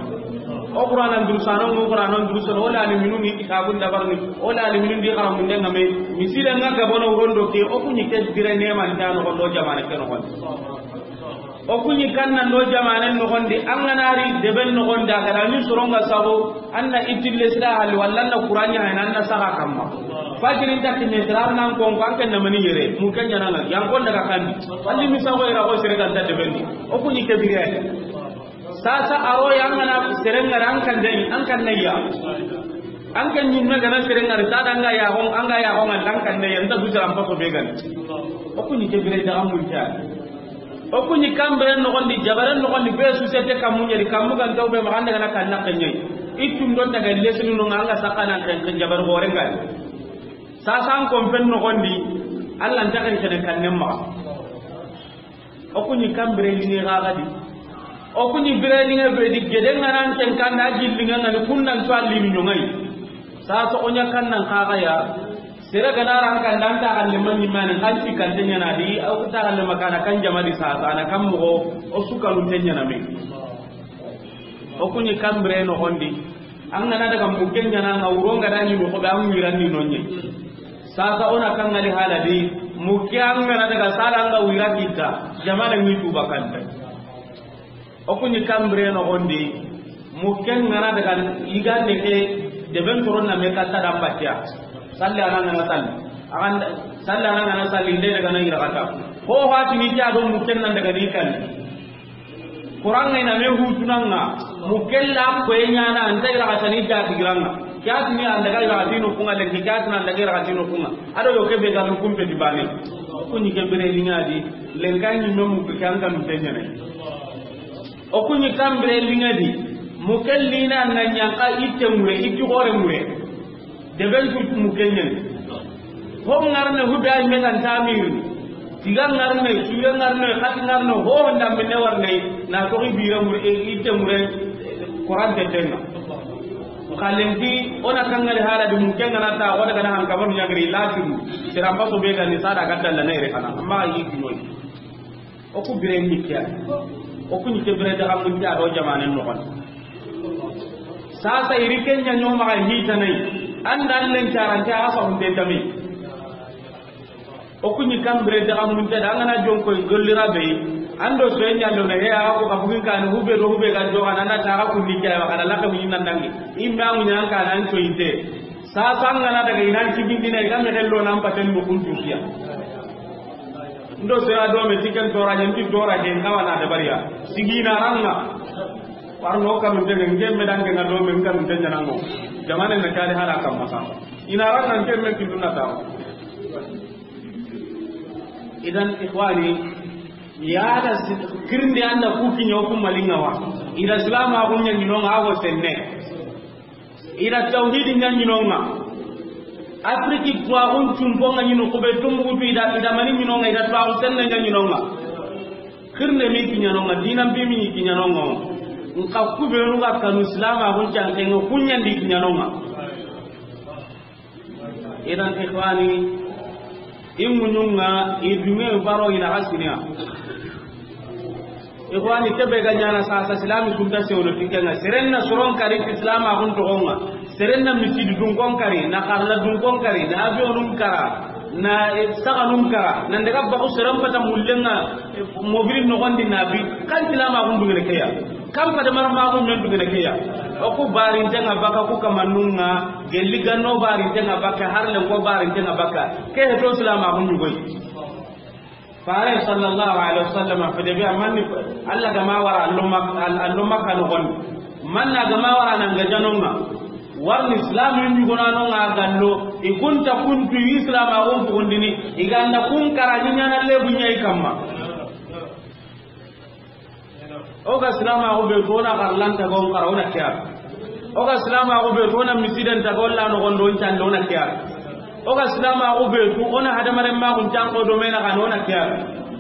O Qur'anan durusano, o Qur'anan durusano, o la ni minu ni kitabun dabarni, o la ni minu di xaramun de ŋa me. Misile ŋa ga bono rondo ke, o kuɲi ke dire ne man ta noxon do, jamane ke noxon. O kuɲi kannan do jamanen noxon di, an ga na ri deben noxon di, a ga da ni soron ŋa sago, an na itille sira hali, walla an na kuraɲa hay, an na saga kamma. Fajirin ta kinne sira nan kon ko an ken na mani yere, mu ken ɲa na ŋa, yan kon daga kandi. Alli mi sago ira ko sere kan ta deben di. O kuɲi ke bire. Sasa aro ya an ga na sere ŋa ri an kan de, an kan ne ya. An kan ɲi me ga na sere ŋa ri, ta da an ga ya hon, an ga ya hon, an kan ne ya, nda du sira an paso be gan. O kuɲi ke bire da an mun ta. O kuɲi kambire noxon di, jabare noxon di, be société kammu ɲeri, kammu gan taw be maxa, an daga na kanna keɲe. Itun do daga lesinu no ŋa, an ga sakana ken, ken jabare gore ngai. Sasa an kon pen noxon di, Alla nta ken kene kannen maxa. O kuɲi kambire liŋe ga ga di. O kuɲi bire liŋe be di, gede ŋa nan ken kanda gilli ŋa ŋa ni kundan to alli ni ɲoŋai. Sasa o ɲa kannan xa ga ya. Sere ga na ran kan dan ta galle man ni mani, kan ti kan tenya na di, o ta galle makana kan jama di sasa na kan moxo, o su kanu tenya na me. O kuɲi kambire noxon di. An ga na daga mukke ɲa na ŋa, wuro ŋa da ɲi moxo be, an wiran ni nonye. Sasa o na kan ŋa li hala di, mukke an ga na daga sala an ga wira kita, jamane ŋi tuba kanta. O kuɲi kambire noxon di, mukken ŋa na daga yigande ke, deben toron na me katta da batiya. Salli ana ŋa na salli. Agan salli ana ŋa na salli, nde daga na yira kata. Ho hati ni ta do mukken nan daga ni kan. Kuran ŋa i na me hutunan ŋa, mukken la ko e ɲa na, an ta yira kata ni ta tigiran ŋa. Kiyati ni an daga yira kata ni kunŋa, lenki kiyati ni an daga yira kata ni kunŋa. A do yo ke be ga no kumpe di bane. O kuɲi ke bire liŋa di, lenka ɲi me mukki kan kan tenya ne. O kuɲi kambire liŋa di, mukken lina na ɲanka itte mure, itti gore mure. Deben tu mukke ɲa ni. Ho ŋarne, hube ay me kan tamir. Tiga ŋarne, suye ŋarne, xati ŋarne, ho honda menne warne. Na toxi bire mure, e, itte mure, Qur'an te tenga. Xalenki, o na kan ŋa li hala di, mukke ŋa na ta, o daga na han kabar ɲa giri, lasiru. Sira paso be ga ni sada ga dalla na ire kana. Amma yi ki noy. O ku bire ni kiya. O kuɲi ke bire daga mun ta do jamanen noxon. Sasa iri ken ɲa ɲoma ga hitanai. An da len carante a sa hunde tami. O kuɲi kambire daga mun ta da, an ga na jonko golli rabe. An do so ɲa lo na he, a ko ka bugin kan, hube do hube ga do, an na ta ga kunni kiya, wa kana la ka mun nan dangi. Imma mun yan kan an to inte. Sasa an ga na daga i nan kibindina, i ga me gello nan paten do kuntu kiya. Ndo sera do me tiken tora ɲen ti tora ke, n kawana de bariya. Sigi na ranga. Warno kanu tege, ngem me dange na do me kanu tege nango. Jamane na kali hala kam masa. Ina ranga ngem me kiduna ta. Idan ikhwani, ya da si-, kirndi anda ku kiɲo ku malinga wa. Ida silama ku ɲa ɲinonga ago senne. Ida tawhidi ɲa ɲinonga. Afriki tuwaxun cumponga ɲinu kube Tumbukutu, ida, ida mani ɲinonga, ida tuwaxu senne ɲa ɲinonga. Xirne mi kiɲanonga, dinan bi mi kiɲanonga. Nka kubenu ga kanu silama kun cankenga, kuɲandi kiɲanonga. Idan ikhwani, i muɲunga, i dunge baro ina hasiniya. Ikhwani, kebe ga ɲana sasa silami kunta sewno tikenga. Serenna soron kari islama kun togonga. Serenna misidi dunkon kari, na karla dunkon kari, na avionun kara, na, eh, saganun kara, na daga baku seren pata mullenga, eh, mobili nogondi na bi, kan silama kun dungene keya. Kan pata marma kun men dungene keya. O ku barintenga baka ku kamanunga, gelli ganno barintenga baka, harlen ko barintenga baka. Ke heto silama kun yugoy. Faare sallallahu alaihi wasallam, fede be a manni, Allah ga ma wara a lo Mak-, a lo Makka noxon di. Manna ga ma wara nan ga janonga. Warni Islam yu ɲugonanonga gallo, i kunta kuntu Islam a gon pugundini, i ganda kun kara ni ɲana lebu ɲa i kamma. O ga Islam a go be to na garlanta gon kara, o na kiya. O ga Islam a go be to na misiden ta golla no gondo ncando, o na kiya. O ga Islam a go be to, o na hadamaren ma gun tanko do mena ga no, o na kiya.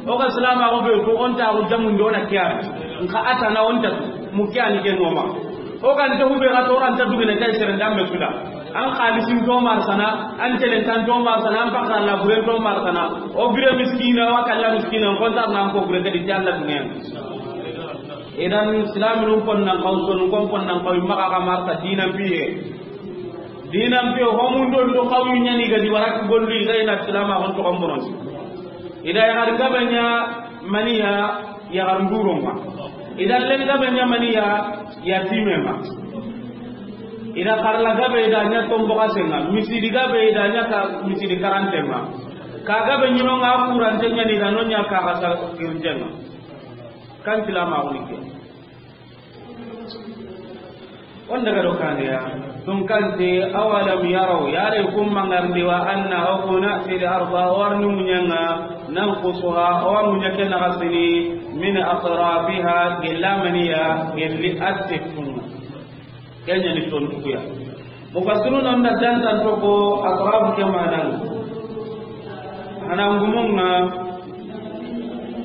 O ga Islam a go be to, o nta go jamun do, o na kiya. Nka ata na o nta mu kiya ni ke noma. O ga nta hube ga to ran ta dugene tay sere ndambe suda. An xalisin to marsana, an telentan to marsana, an pakran na buren to marsana. O bire miskina, wa kalla miskina, kontar nan ko bure kadi jalla dunen. Idan Islam nun kon nan kaw, son kon kon nan kaw, maka ka marta dinan piye. Dinan piye, homun don do kaw ɲani gadi warak golli gayna Islam a hon to kon bonon. Ida ya har gabanya maniya ya har nduronga. Ida len gabanya maniya ya timema. Ida karla gabe ida ɲa tombo kasenga. Misidi gabe ida ɲa ka misidi karantenga. Ka gabe ɲinonga kurante ɲani ida no ɲa ka kasa kirjenga. Kan tilama woni ke. On daga do kaniya. Tun kante, awalam yaraw, yare kun mangarndi wa anna okuna fil arda, warni munyanga, nanqusuha, o munyake nagasini, min atrafiha, gillamaniya, gilli attikun. Kenya ni tontukuya. Mufassiruna nda dantan to ko atraf ke manan. Hanan gumunga,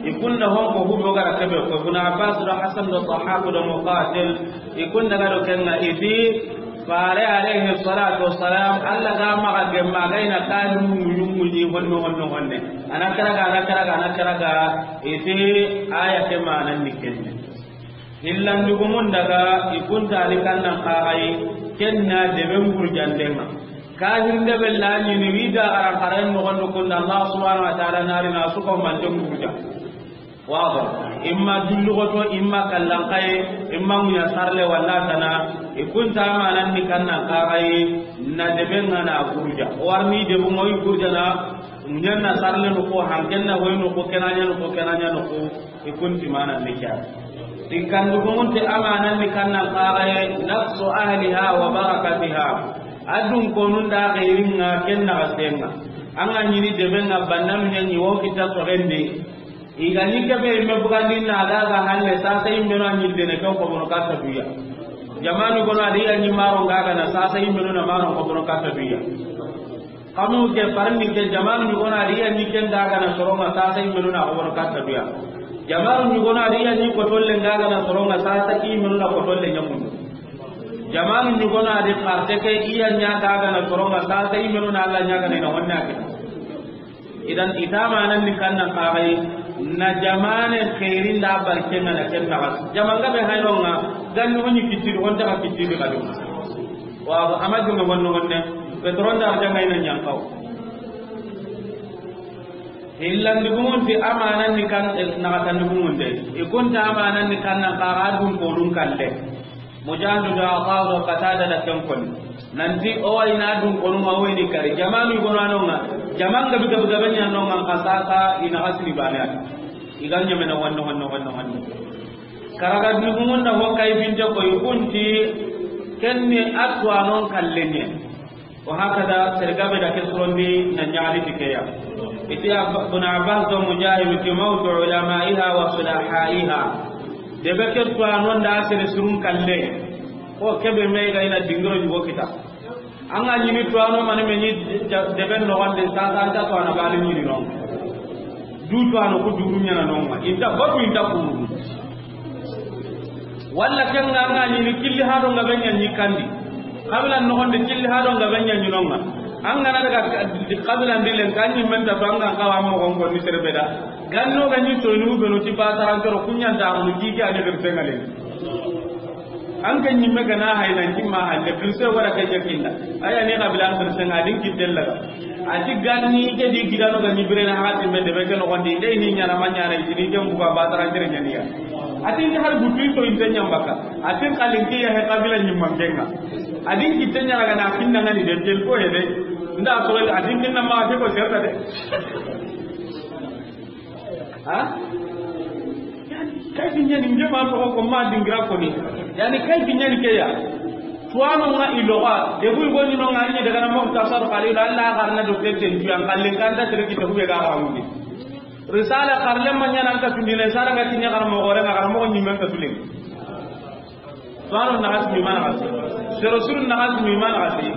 i kunda hon ko hubo gara kebe ko Ibn Abbas do Hasan do Dhahhak do Muqatil, i kunda ga do kenga iti, Faare alayhi salatu wassalam, Allah ga maga gemma gayna kanu muyumu ni honno honno honne. Ana karaga, ana karaga, ana karaga, iti aya ke manan ni kenne. Hillandugumun daga i kunta ni kannan kaxayi, kenna deben gurjandenga. Kahirinde be la ɲini wi da xaran xaran noxondu kunda Allah subhanahu wa ta'ala nari na suko mante gurja. Wado, imma dullugoto, imma kallankaye, imma muya sarle walla tana, i kunta amanan ni kannan kaxayi, na deben nga na gurja. Warni debun nga i gurjana, ɲanna sarle no ko, hankenna hoy no ko, kenanya no ko, kenanya no ko. I kunti mana ni kya. Di kandugumunti amanan ni kannan kaxaye, naqsu ahliha wa barakatiha. Adun konun da xeyringa ken naxasenga. Anga ɲini debenga bannanu ɲaɲi wo kita soxendi. I ga ɲi kebe imme bugandi na daga halle sasa immeno a ɲildene ken xobono katta duya. Jamanu gono adi ya ɲi maron gagana sasa immeno na maron xobono katta duya. Kanu ke farni ke jamanu ɲugona adi ya ɲi ken dagana soronga sasa immenu na xoboro katta duya. Jamanu ɲugona adi ya ɲi kotolle dagana soronga sasa immenu na kotolle ɲamundu. Jamanu ɲugona adi xarte ke iya ɲa dagana soronga sasa immenu na Allah ɲagana ina wonna ke. Idan itamanan ni kannan kaxayi na jamane xerin da barkenga na ken naxa. Jamanga be haynonga ganni woni kittidi wonta ka kittidi kadi. Wa ama jonge wonno wonne. Petron da arjanga ina ɲankaw. Hillandi gumunti amanan ni kan, eh, naxatandi gumunde. I kunta amanan ni kannan kaxa dun konun kalle. Mujahidu da Ata do Qatada da ken koni. Nanti o wa ina dun konun ma woni kari. Jamanu gono anonga. Jaman gabi gabi gabe ɲanonga ka sasa ina hasri bane. I ga ɲamena wanno wanno wanno wanno. Karaga dugumunda ho kay binte ko i kunti kenni atwanon kallenye. Wa hakada, sergabe da ke surondi na ɲaxali ti keya. Iti Ab-, Ibn Abbas do Mujahid ti mawtu ulamaiha wa sulahaiha. Debe ke tuwanon da sere surun kalle. Ko kebe me ga ina dingiro ɲugo kita. An ga ɲini tuwano mani me ɲi ja-, deben no wande sasa anta tuwana bali ɲini non. Du tuwano ku duru ɲana non ma. Inta batu inta kuru. Walla ken nga an ga ɲini killi hado nga benya ɲi kandi. Kabila no gonde killi hado nga benya ɲi nonga. An ga na daga ka-, kabila ndilen kan ɲi menta to an ga kawa mo gongo ni serbeda. Ganno ga ɲi to ni ubeno ti ba tarantoro kunyanta mu kike ani bertengale. An ke ɲimme gana hay nan kimma hande, kirse wara ke jakinda. Aya ne kabila an kirse nga din kittella. Ati ganni ke di gidano ga ɲibire na hati me de be ke no gondi, de ni ɲana ma ɲana, ni ke mbuga ba tara jere ɲaniya. Ati ni har butu to inte ɲambaka. Ati kalin ke ya he kabila ɲimman kenga. Adi kitte ɲana gana kinna ngani de tel ko he de. Nda ko ati kinna ma ke ko serta de. Ha? Kayfi ɲani nge ma toxo ko ma dingira koni. Yani kayfi ɲani ke ya. Tuwano nga i loxa. Debu i goni no nga ni daga na mo tasar xali la Allah garna do tete ndu an kallen kanta tere ki to be ga ga mundi. Risala karle ma ɲana an ka tundine sara nga tinya karamo gore nga karamo ni men ka tulen. Tuwano naxati mi ma naxati. Sero suru naxati mi ma naxati.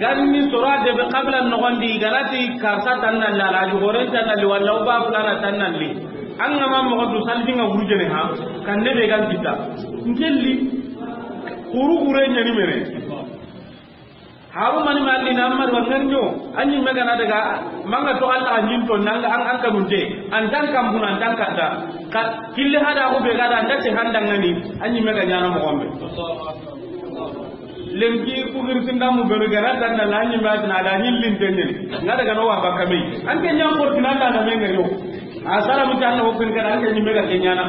Ganni sora de be qabla noxondi ganati karsa tanna la la gore tanna li wala uba fulana tanna li. An ga ma moxo du salbi nga wurjene ha. Kan ne be gan kita. Ngelli. Kuru gure ɲani mere. Haru mani malli na amar wa ngarnyo. Anyi mega na daga manga to Allah anyin to nanga an an kanunte. An tan kambuna an tan kata. Ka kille hada ko be gada an dace handangani. Anyi mega ɲana mo gombe. Lenki ku girsinda mu beru gara tan na lanyi ma na da nyillin tenyen. Nga daga no wa bakame. An ke ɲan ko tinanda na menga yo. Asara mu tan na ko kin kada an ke nyi mega ke ɲana.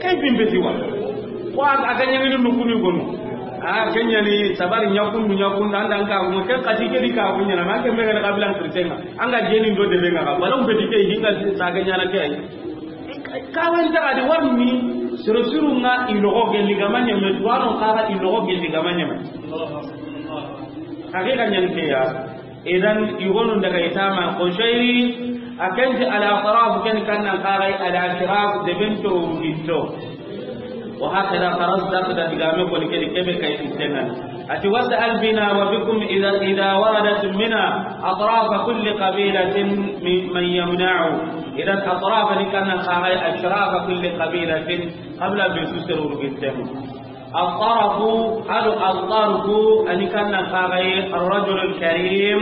Kay bimbe ti wa. Ko a ga ɲani nu kuni gonu. A ke ɲani sabari ɲakundu ɲakundu anda an ka mo ke kati ke di ka ko ɲana ma ke mega kabila kirtenga. An ga jeni do de be nga ka. Wala umbe di ke hinga sa ga ɲana ke. Kawan ta di warni siro siro nga i loxo gelli ga ma ɲeme, tuwano xara i loxo gelli ga ma ɲeme. Hakika ɲani ke ya. Idan i gonu daga i tama Qushayri, a kenti al-atraf ken kannan xaxay al-ashraf de bento ginto. Wa hakada Farazdaq da digame koni kedi kebe kay fittenan. Ati was'al bina wa bikum idha, idha waradat mina atraf kulli qabilatin min, man yamna'u. Idan atraf ni kannan xaxay ashraf kulli qabilatin qabla be su seruru gintemu. Al-tarafu, ado al-tarfu, ani kannan xaxay ar-rajul al-karim,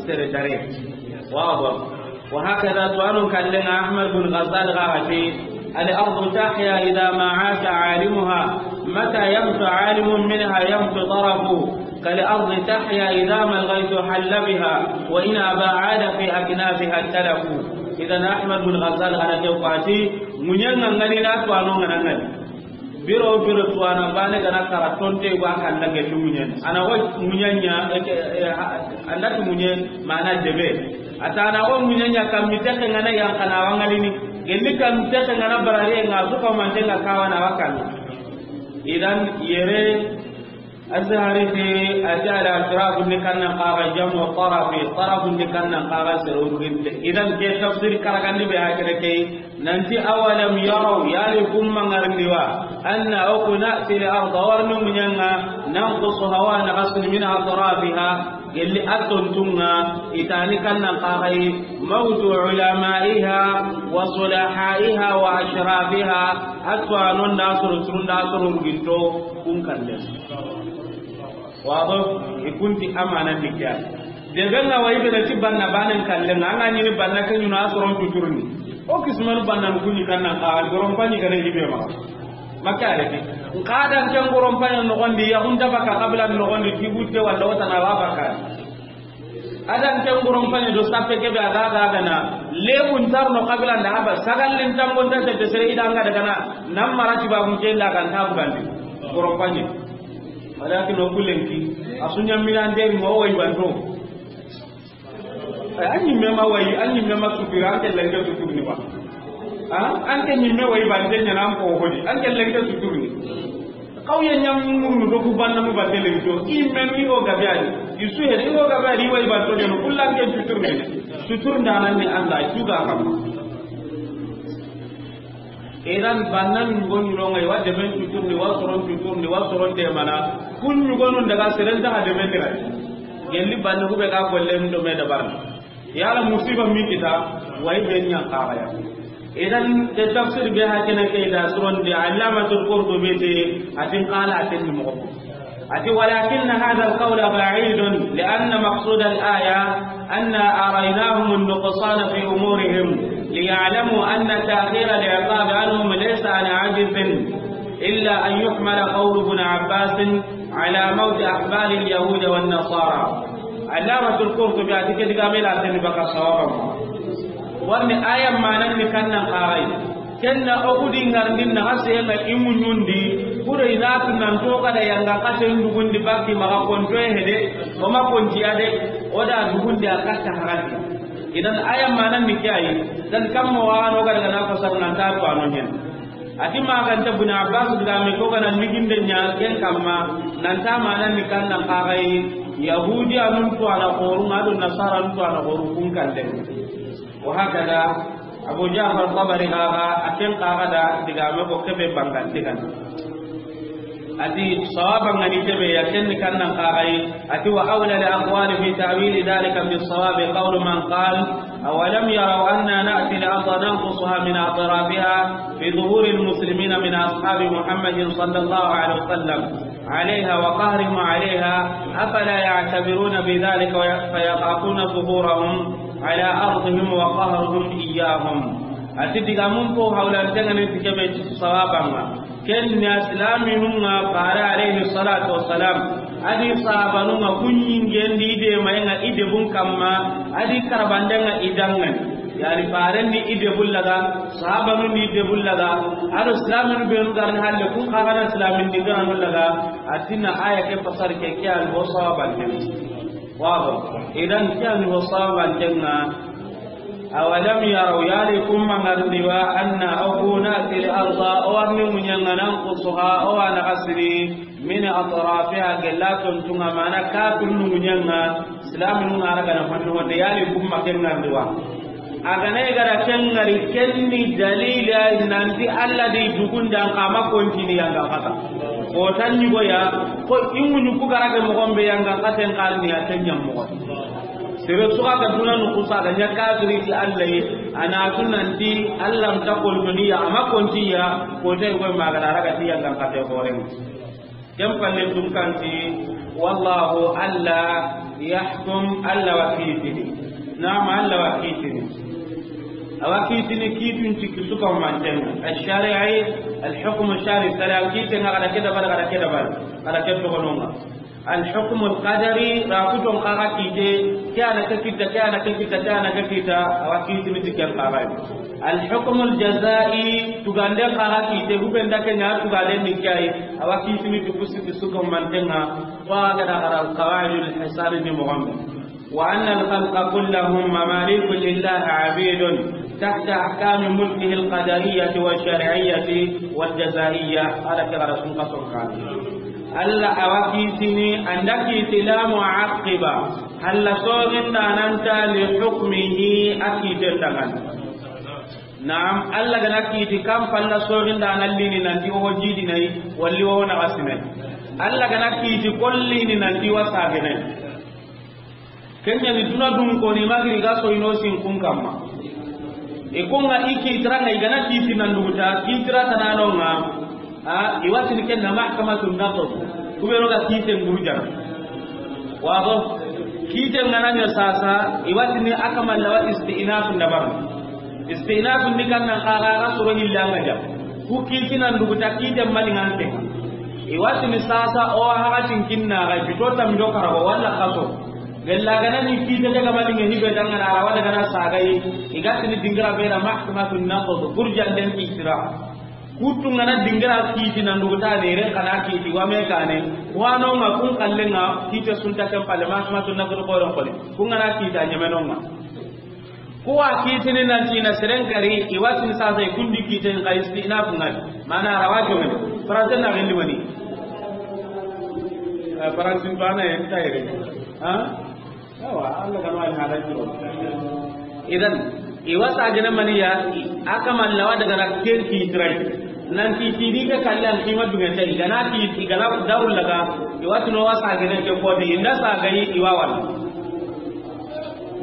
sere dare. Wado. Wa hakada tuwano kallenga Ahmad bin Ghazal xaxati, al-ardu tahya idha ma asha alimuha, mata yamtu alimun minha yamtu tarafu, kal-ardi tahya idha ma al-ghaythu halla biha, wa in aba ada fi aknafiha talafu. Idan Ahmad bin Ghazal xaxati, ŋuɲanga ngani na tuwano ngana ngani. Biro biro tuwana bane gana kara tonte wa kanda gelli ŋuɲen. Ana wo ŋuɲanya, eh, eh, ha-, anda tu ŋuɲe mana debe. Ata ana wo ŋuɲanya kammi teke ngana yankana wangalini. Gelli kammi teke ngana barare nga suka mante nga kawana wakana. Idan yere Azhari te ati al-ashraf ni kannan xaxa jamu tarafi, taraf ni kannan xaxa serurinte. Idan ke tafsir karagandi be hakere ke. Nanti awalam yaraw, yali kumma ngarndi wa, anna oku na'ti al-arda warni ŋuɲanga, nanqusuha wa naqasni min atrafiha, gelli attontunga, itani kannan xaxay, mawtu ulamaiha, wa sulahaiha, wa ashrafiha, atwa non da suru surun da suru ruginto, kun kande. Wado, i kunti amana ni kya. Debe nga wa i bena ti banna banen kallenga, anga ɲini banna ke ɲuna a soron tuturni. O kismanu banna nu kuni kannan ka, goron pani gare hibe ma. Makka re ke. Nka dan ken goron pani no gondi, ya hunda baka kabila no gondi, ti butte wala wata na wa baka. Adan ken goron pani do sappe ke be aga aga gana. Lebun tarno kabila nda haba, sagallin tambon ta te sere idanga daga na, nam marati babun ke nda kan tabu gandi. Goron pani. Walakin o kulenki, a sunya mirande mo wayi banto. Ay, an ɲimme ma wayi, an ɲimme ma sutura, an ke lenge suturni wa. Ha? An ke ɲimme wayi bante ɲana an ko hodi, an ke lenge suturni. Kawye ɲam murnu do ku banna mu bante lenge to, i menu i o gabe ali, i su hedi i o gabe ali wayi banto ɲana, kullan ke suturni. Sutur ndanan ni Allah, juga kam. Idan bannan ŋugo ɲuronga, i wa demen tuturni, wa soron tuturni, wa soron demana. Kun ɲugonun daga seren taxa demen dira. Gelli banna hube ga golle ndo me dabarna. Yala musiba mi kita, way ben ɲa xaxaya. Idan de tafsir be hakina ke da suron de Allamatul Qurtubi te, atin qala atin mo. أتي: ولكن هذا القول بعيد، لأن مقصود الآية أنا أريناهم النقصان في أمورهم، ليعلموا أن تأخير العقاب عنهم ليس عن عجز، إلا أن يحمل قول ابن عباس على موت أحبار اليهود والنصارى. Allamatul Qurtubi a ti ke digame la teni baka sawaba. Warni aya manan ni kannan xaxay. Kenna o kudi ngarndin na xasenga i muɲundi, kudo i na tu nan to kada yanga xasen dugundi bakki maxa konto hede, o ma konti ade, o da dugundi a katta harati. Idan aya manan ni ke yi, dan kammo wa no ga daga na fasar nan ta to ano nyen. A ti ma ga nta Ibn Abbas digaame ko ga na liginde ɲa ken kamma, nan ta manan ni kan nan ka ga yi, Yahudiyanun to ana xoru, ma do Nasaranun to ana xoru kun kan de. Wa hakada, Abu Ja'far Tabari ga ga, a ken ka ga da digaame ko kebe bangan digan. A ti, sawaba ngani kebe ya ken kan nan ka ga yi. A ti, wa awla al aqwali fi ta'wili dhalika bis sawabi qawlu man qal, awalam yaraw anna na'ti al arda nanqusuha min atrafiha fi zuhuri al muslimina min ashabi Muhammadin sallallahu alaihi wasallam alayha wa qahrihim alayha, afala ya'tabiruna bi dhalika wa ya-, fa yakhafuna zuhurahum ala ardihim wa qahruhum iyyahum. A ti digaamun ko hawlante ngani ti kebe ti sawaba nga. Ken ni silaminun ŋa, fare alayhi salatu wassalam, a di sahabanun ŋa, kuɲingendi i de mayenga i debun kamma, a di karabanden ŋa i danŋani. Yani faren ni i debun laga, sahabanun ni i debun laga, a do silaminu benu ga ri halle kun xa ga na silamin dingiranun laga. A ti na aya ke fasar ke, ke a ni ho sawabanten. Wado, idan ke a ni ho sawabanten ŋa. Awalam yaraw, yali kun ma ŋarndi wa, anna, o ku, na'ti al arda, o wa ni ŋuɲen ŋa, nanqusuha, o wa na xasini, min atrafiha, gella tontunŋa, mana kafirinu ŋuɲen ŋa, silaminu ŋa ra ga na fannu wonde, yali kun ma ken ŋarndi wa. A ga na i ga ra ken ŋari, ken ni dalili ya nanti Alla di dugundan xa ma kontini yanga xata. Ko tan ni go ya, ko i ŋuɲu ku ga ra ke moxon be yanga xaten xarni ya ken ɲam moxon. Sere su ga duna nu kusa ga ɲa kafiri ti Alla yi, a na tu nanti Alla nta kontoni ya, a ma konti ya, ko te ko ma ga ra ga ti Alla nka te xoren. Ken palle tun kanti, wallahu Alla yahkum, Alla wa kitini. Naam, Alla wa kitini. A wa kitini kitun ti kisuka manten. Al-shari'i, al-hukm al-shari'i, sariya kiten ga da ke dabari, ga da ke dabari, ga da ke togononga. Al-hukmul qadari, ra kuton xa ga kite, ke a na ke kita, ke a na ke kita, ke a na ke kita, a wa kitini ti ken xa ga. Al-hukmul jazai, tugande xa ga kite, hubenda ke ɲa tugande ni ke yi, a wa kitini ti kusi ti suko mantenga, wa ga da ga da qawaidul hisabi ni moxon be. Wa anna al-khalqa kullahum mamaliku lillahi abidun tahta ahkami mulkihi al-qadariyyati wa shar'iyyati wal jazaiyyah. Ala ke ga da sun ka son kan. Alla a wa kitini, an da kiti la mu'aqqiba, Alla soginda nan ta li hukmihi, a kiten dangan. Naam, Alla ga na kiti kan palla soginda nan lini nanti o jidi nay, walli o na asine. Alla ga na kiti kollini nanti wa sagene. Ken ɲa ni duna dun ko ni magiri ga so ino sin kun kamma. E ko nga i kitira nga i ga na kiti nan duguta, kitira tanano nga. A, i wa tini ken na mahkamatu naqd. Ku be ro ga kite ngurujana. Wa go, kite nga na ɲa sasa, i wa tini a kaman la wa istinaf ndabar. Istinaf ni kan na xa ga ga soro hilla nga ja. Ku kiti nan duguta kite mani ngante. I wa tini sasa o ha ga tin kinna ga bito tam do karago wala kaso. Gella gana ni kite daga mani nge hibe danga na rawa daga na sagai. I ga tini dingira be na mahkamatu naqd, gurjan den kitira. Kutu ngana dingira kiti nan duguta ne ren kana kiti wa me kane. Wano nga kun kallenga kite sunta kan pale mahkamatu naqd ko ron kole. Kun ngana kita ɲameno nga. Kuwa kitini nanti na seren kari, i wa tini sasa i kundi kiten ka istinaf ngani. Mana rawa jongani. Faransa na rendi wani. Eh, Faransa bana en tayre. Ha? Yawa, Alla kanu al halal jiro. Idan, i wa sagene mani ya, a kaman la wa daga na ken kitirai. Nanti kini ke kallan kima dunga tai, gana ki, gana darul laga, i wa tini wa sagene ke kodi, inda sagai i wa wala.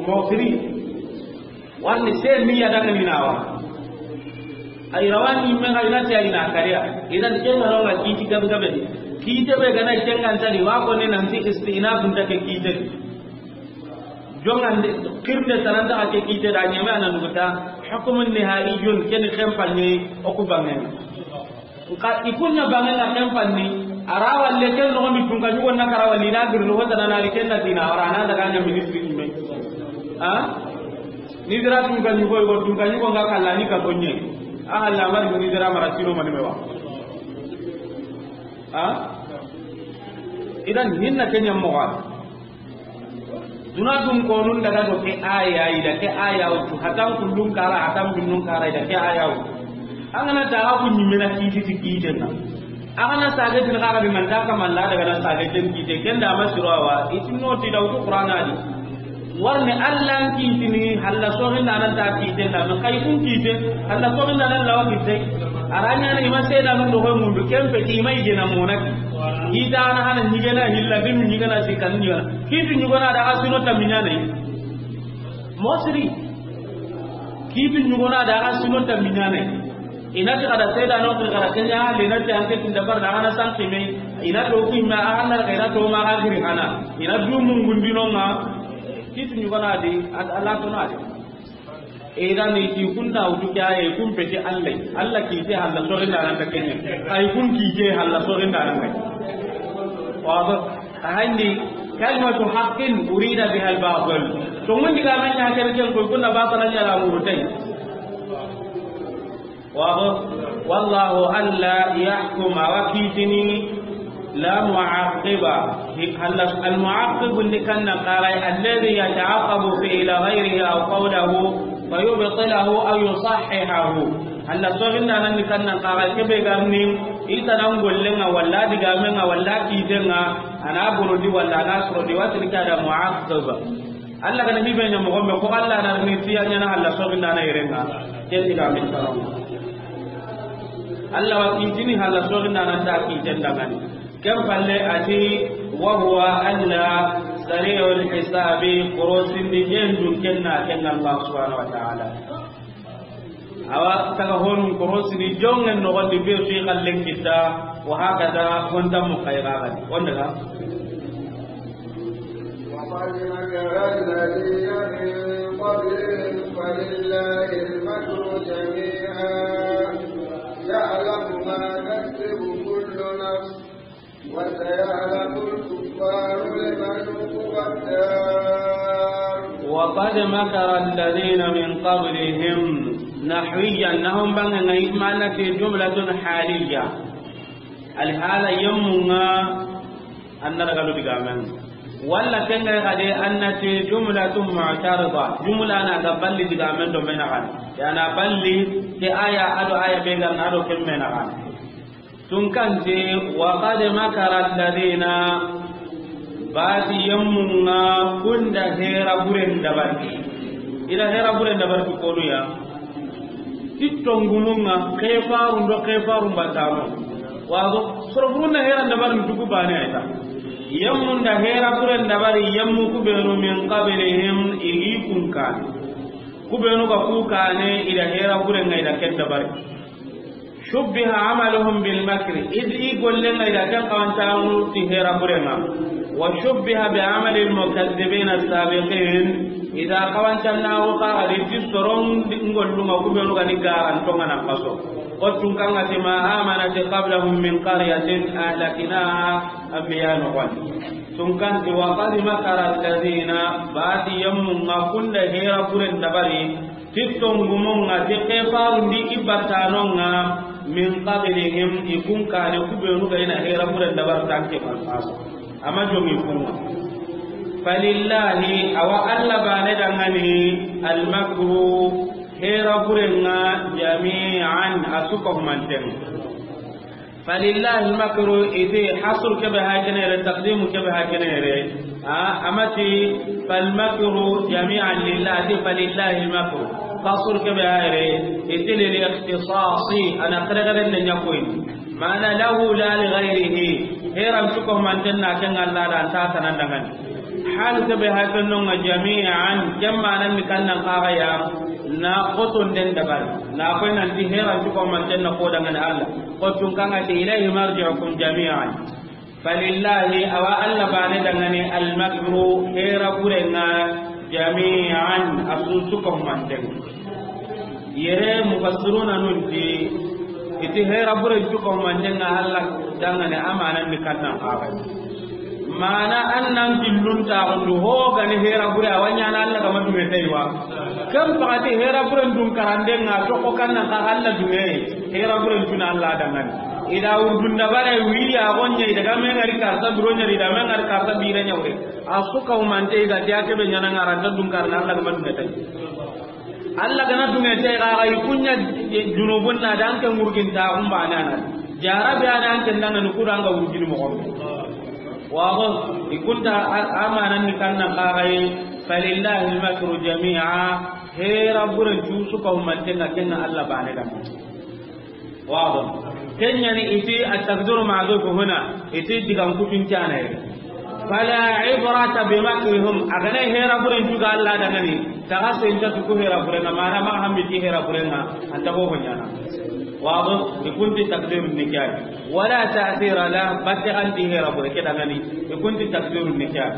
Mo kiri. Warni se ni ya daga ni nawa. Ay rawani me ga ina ti ay na kariya. Idan ken na ronga kiti gabe gabe. Kite be gana ken ga ntari wa ko ne nanti istinaf nta ke kite. Jongande kirde taranta ke kite da nyame anan duguta. Hukmun nihaiyun ken khempal ni o ku bangen. Nka i kunna bange na ken fanni, a ra walle ken noxondi tunka ɲugo na kara walli na girno hota na nari ken na dina wara na daga ɲa ministri ɲime. Ha? Ni dira tunka ɲugo, i go tunka ɲugo nga kalla ni ka tonye. A halla mari ni dira mara tiro mani mewa. Ha? Idan hinna ken ɲa moxo. Duna dun konun daga do ke aya ida ke aya wutu, hatan kullun kara, hatan binnun kara ida ke aya wutu. An ga na taga ku ɲimena kiti ti kiten na. An ga na sage tin kara bi man ta kamalla daga na sage tin kite, ken da masiro wa, itin no ti da wutu Qur'ana di. Warne Alla kitini halla soxindanan ta kiten da, men xay kun kite, halla soxindanan lawa kite. Aranya na ima seda nun do ko mundu kempe ti ima igena monaki. Kita ana hana ɲigena hilla binu ɲigena sikan ɲigena. Kitu ɲugana da ga sino tammiɲane. Mosiri. Kitu ɲugana da ga sino tammiɲane. Ina ti kada seda no ki kada kenya le na ti anke tin dabar da ana san kime. Ina do ku ima ana ina to ma ga giri hana. Ina du mun gundino nga. Kitu ɲugana di Allah to na di. E da ni ti kunna wutu kya e kun pete Allah. Allah kite halla soxindanan ta kenya. Ay kun kite halla soxindanan ta. Wa ba. Ahandi kalimatu haqqin urida biha al-batil. To mun diga men ya ken ken ko kunna batala ɲala murutay. Wa wallahu alla yahkum, awa kitini la mu'aqqiba. Al-mu'aqqib ni kanna qaray alladhi yata'aqqabu fi ila ghayrihi aw qawluhu fa yubtilahu aw yusahhihahu. Alla soxindanan ni kannan kaxa kebe garni, i tana ngollenga walla digamenga walla kitenga, ana bonondi walla ana sorondi, watini ke ada mu'aqqib. Alla gana hibe ɲa moxo be ko Alla na ni tiya ɲana Alla soxindana yerenga, ken digamen taronga. Alla wa kitini Alla soxindana nta kiten dangani. Ken palle ati, wa huwa Alla sari'ul hisabi, korosindi hendun kenna kenna Allah subhanahu wa ta'ala. Awa taga honun korosini jongen nogondi be su i xallen kitta, wa hakada honta mu xayragani. Wonde ga. وقد مكر الذين من قبلهم فلله المكر جميعا يعلم ما تكسب كل نفس وسيعلم الكفار لمن عقبى الدار. وقد مكر الذين من قبلهم نحويا، نحو بان معنى جملة حالية. الحالة يمنا أن نرغل بقامن. ولا كان قد أن جملة معترضة، جملة أنا قبل بقامن دو من غن. يعني قبل في آية أدو آية بيغان أدو كم من غن. Tunkanti, wa qad makara alladhina, bati yemmunga kunda hera buren dabari. Ila hera buren dabari tu konuya. Tittongumunga kefarun do kefarun batano. Wago, soroburun da hera dabari tuku bane ayta. Yemmun da hera buren dabari yemmu kubenu min qablihim igi kunkan. Kubenu ga kukane ila hera buren ga ila ken dabari. Shubbiha amaluhum bil makri, id i gollenga ida ken kawancaanu ti hera burenga. Wa shubbiha bi amali al mukazzibin as sabiqin, ida kawancaana wo ka adi ti soron ngollunga kubenu ga ni garantonga na kaso. Kottun kanga ti ma amanat qablahum min qaryatin ahlaknaha, anbiya no wan. Tunkanti wa qad makara alladhina, bati yammunga kunda hera buren dabari, Tittongumunga, ti kefarundi i battanonga, min qablihim, i kunkane kubenu ga ina hera buren dabar tanke manfasa. Ama jongi kunga. Falillahi, awa Alla bane dangani, almakru, hera burenga, jami'an, asuka humanten. Falillahi almakru, iti hasr kebe hakenere, taqdimu kebe hakenere. Ah, amati falmakru jami'an lillah, ati falillahi almakru. Hasr kebe hayre, iti lil ikhtisasi, ana kare kare ne nyakoy. Mana lahu la li ghayrihi. Heran cuko manten na ken Alla da anta tanan dangan. Hal kebe hakenonga jami'an, kemma nan kannan kaga ya, na koton den dabar. Na koy nan ti heran cuko manten na ko dangan Alla. Kottun kanga ti ilayhi marji'ukum jami'an. Falillahi, awa Alla bane dangani, almakru, hera burenga, jami'an, asusu ko manten. Yere mufassiruna nunti, iti hera buren cuko manten nga Alla dangani amanan ni kannan kaga. Mana annan killun ta gundu ho gani hera bure awanya na Alla gama dume taiwa. Kam pagati hera buren dun karandenga to ko kannan ka Alla dume. Hera buren tuna Alla dangani. I da wurdun dabare wiri a gonye, i daga me ngari karta buro ɲa, i da me ngari karta bire ɲa wure. A su ka humante i ga ti a ke be ɲaana ŋa ra nta dun karna Alla ga ma dunge tay. Alla ga na dunge tay ga ga i ku ɲa junubun na da an ke murgin ta umba na na. Jarabi a da an ke ndanga ni ku da an ga wurgini mo gombe. Wa go i kunta a-, amanan ni kanna ga ga yi, falillahi al-makru jami'a, hera buren cu su ka humante na kenna Alla bane da. Wado. Kenya ni iti at-taqdiru ma'dhuf huna, iti digan kutun cana yi. Fala ibrata bi makrihim, a ga na hera buren juga Alla da ngani, taga senta tu ku hera buren ma na ma hammi ti hera buren, anta ho ho ɲaana. Wado, i kunti taqdirun nikah. Wala ta'thira la, batte anti hera bure ke da ngani, i kunti taqdirun nikah.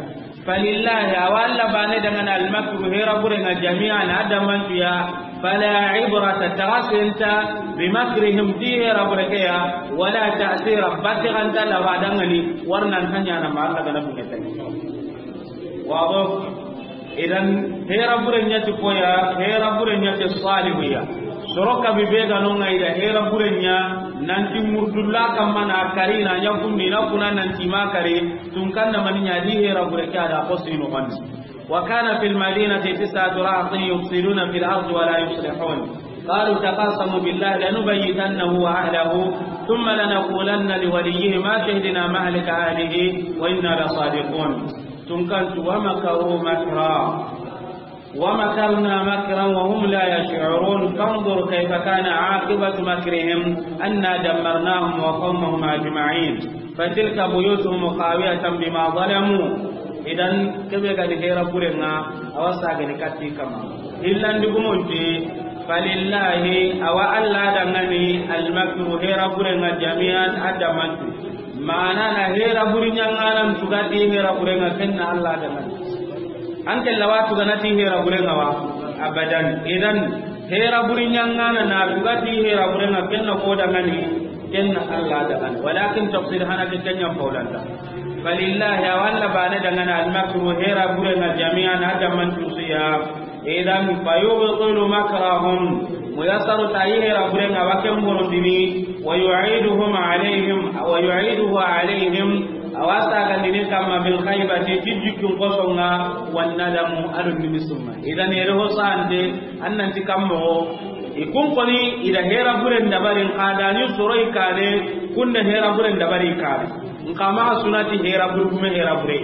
Falillahi, awa Alla bane da ngana al-makru hera bure nga jami'an a da mantu ya, fala ibrata taga senta bi makrihim ti hera bure ke ya, wala ta'thira batte anta la wa da ngani warna ntanya na ma Alla ga na dunge tay. Wado. Idan hera bure ɲa ti koya, hera bure ɲa ti salihiya. Soro ka bi be ga no nga i da hera bure ɲa, nanti murdulla kamma na kari na ɲa kundi na kuna nanti ma kari, tun kan na mani ɲa di hera bure ke a da ko sino kan. وكان في المدينة تسعة رهط يفسدون في الأرض ولا يصلحون. قالوا تقاسموا بالله لنبيتنه وأهله ثم لنقولن لوليه ما شهدنا مهلك أهله وإنا لصادقون. Tun kan tu, ومكروا مكرا ومكرنا مكرا وهم لا يشعرون. فانظر كيف كان عاقبة مكرهم أنا دمرناهم وقومهم أجمعين. فتلك بيوتهم خاوية بما ظلموا. Idan kebe ga ni hera bure nga, awa sa ga ni katti kama. Illan di gumonti, falillahi, awa Alla da ngani, al-makru hera bure nga jami'an a da mantu. Mana na hera buri ɲanganan tugati hera bure nga kenna Alla da ngani. An ke lawa tuganati hera bure nga wa? Abadan. Idan hera buri ɲangana na tugati hera bure nga kenna ko da ngani, kenna Alla da ngani. Walakin tafsir hana ke kenya faulanta. Falillahi, awa Alla bane da ngana al-makru hera bure nga jami'an a da mantu su ya. Idan fayubtilu makrahum. Muyasaru ta yi hera bure nga wa ken bonondini. ويعيدهم عليهم، ويعيده عليهم، awa sagandini kamma بالخيبة, ti jikkun kosonga, والندم, ado nimisuma. Idan yere ho sante, annanti kammo, i kun koni, i da hera buren dabarin, kadani soroi kane, kunde hera buren dabari kane. Nkama sunati hera bure, kume hera bure.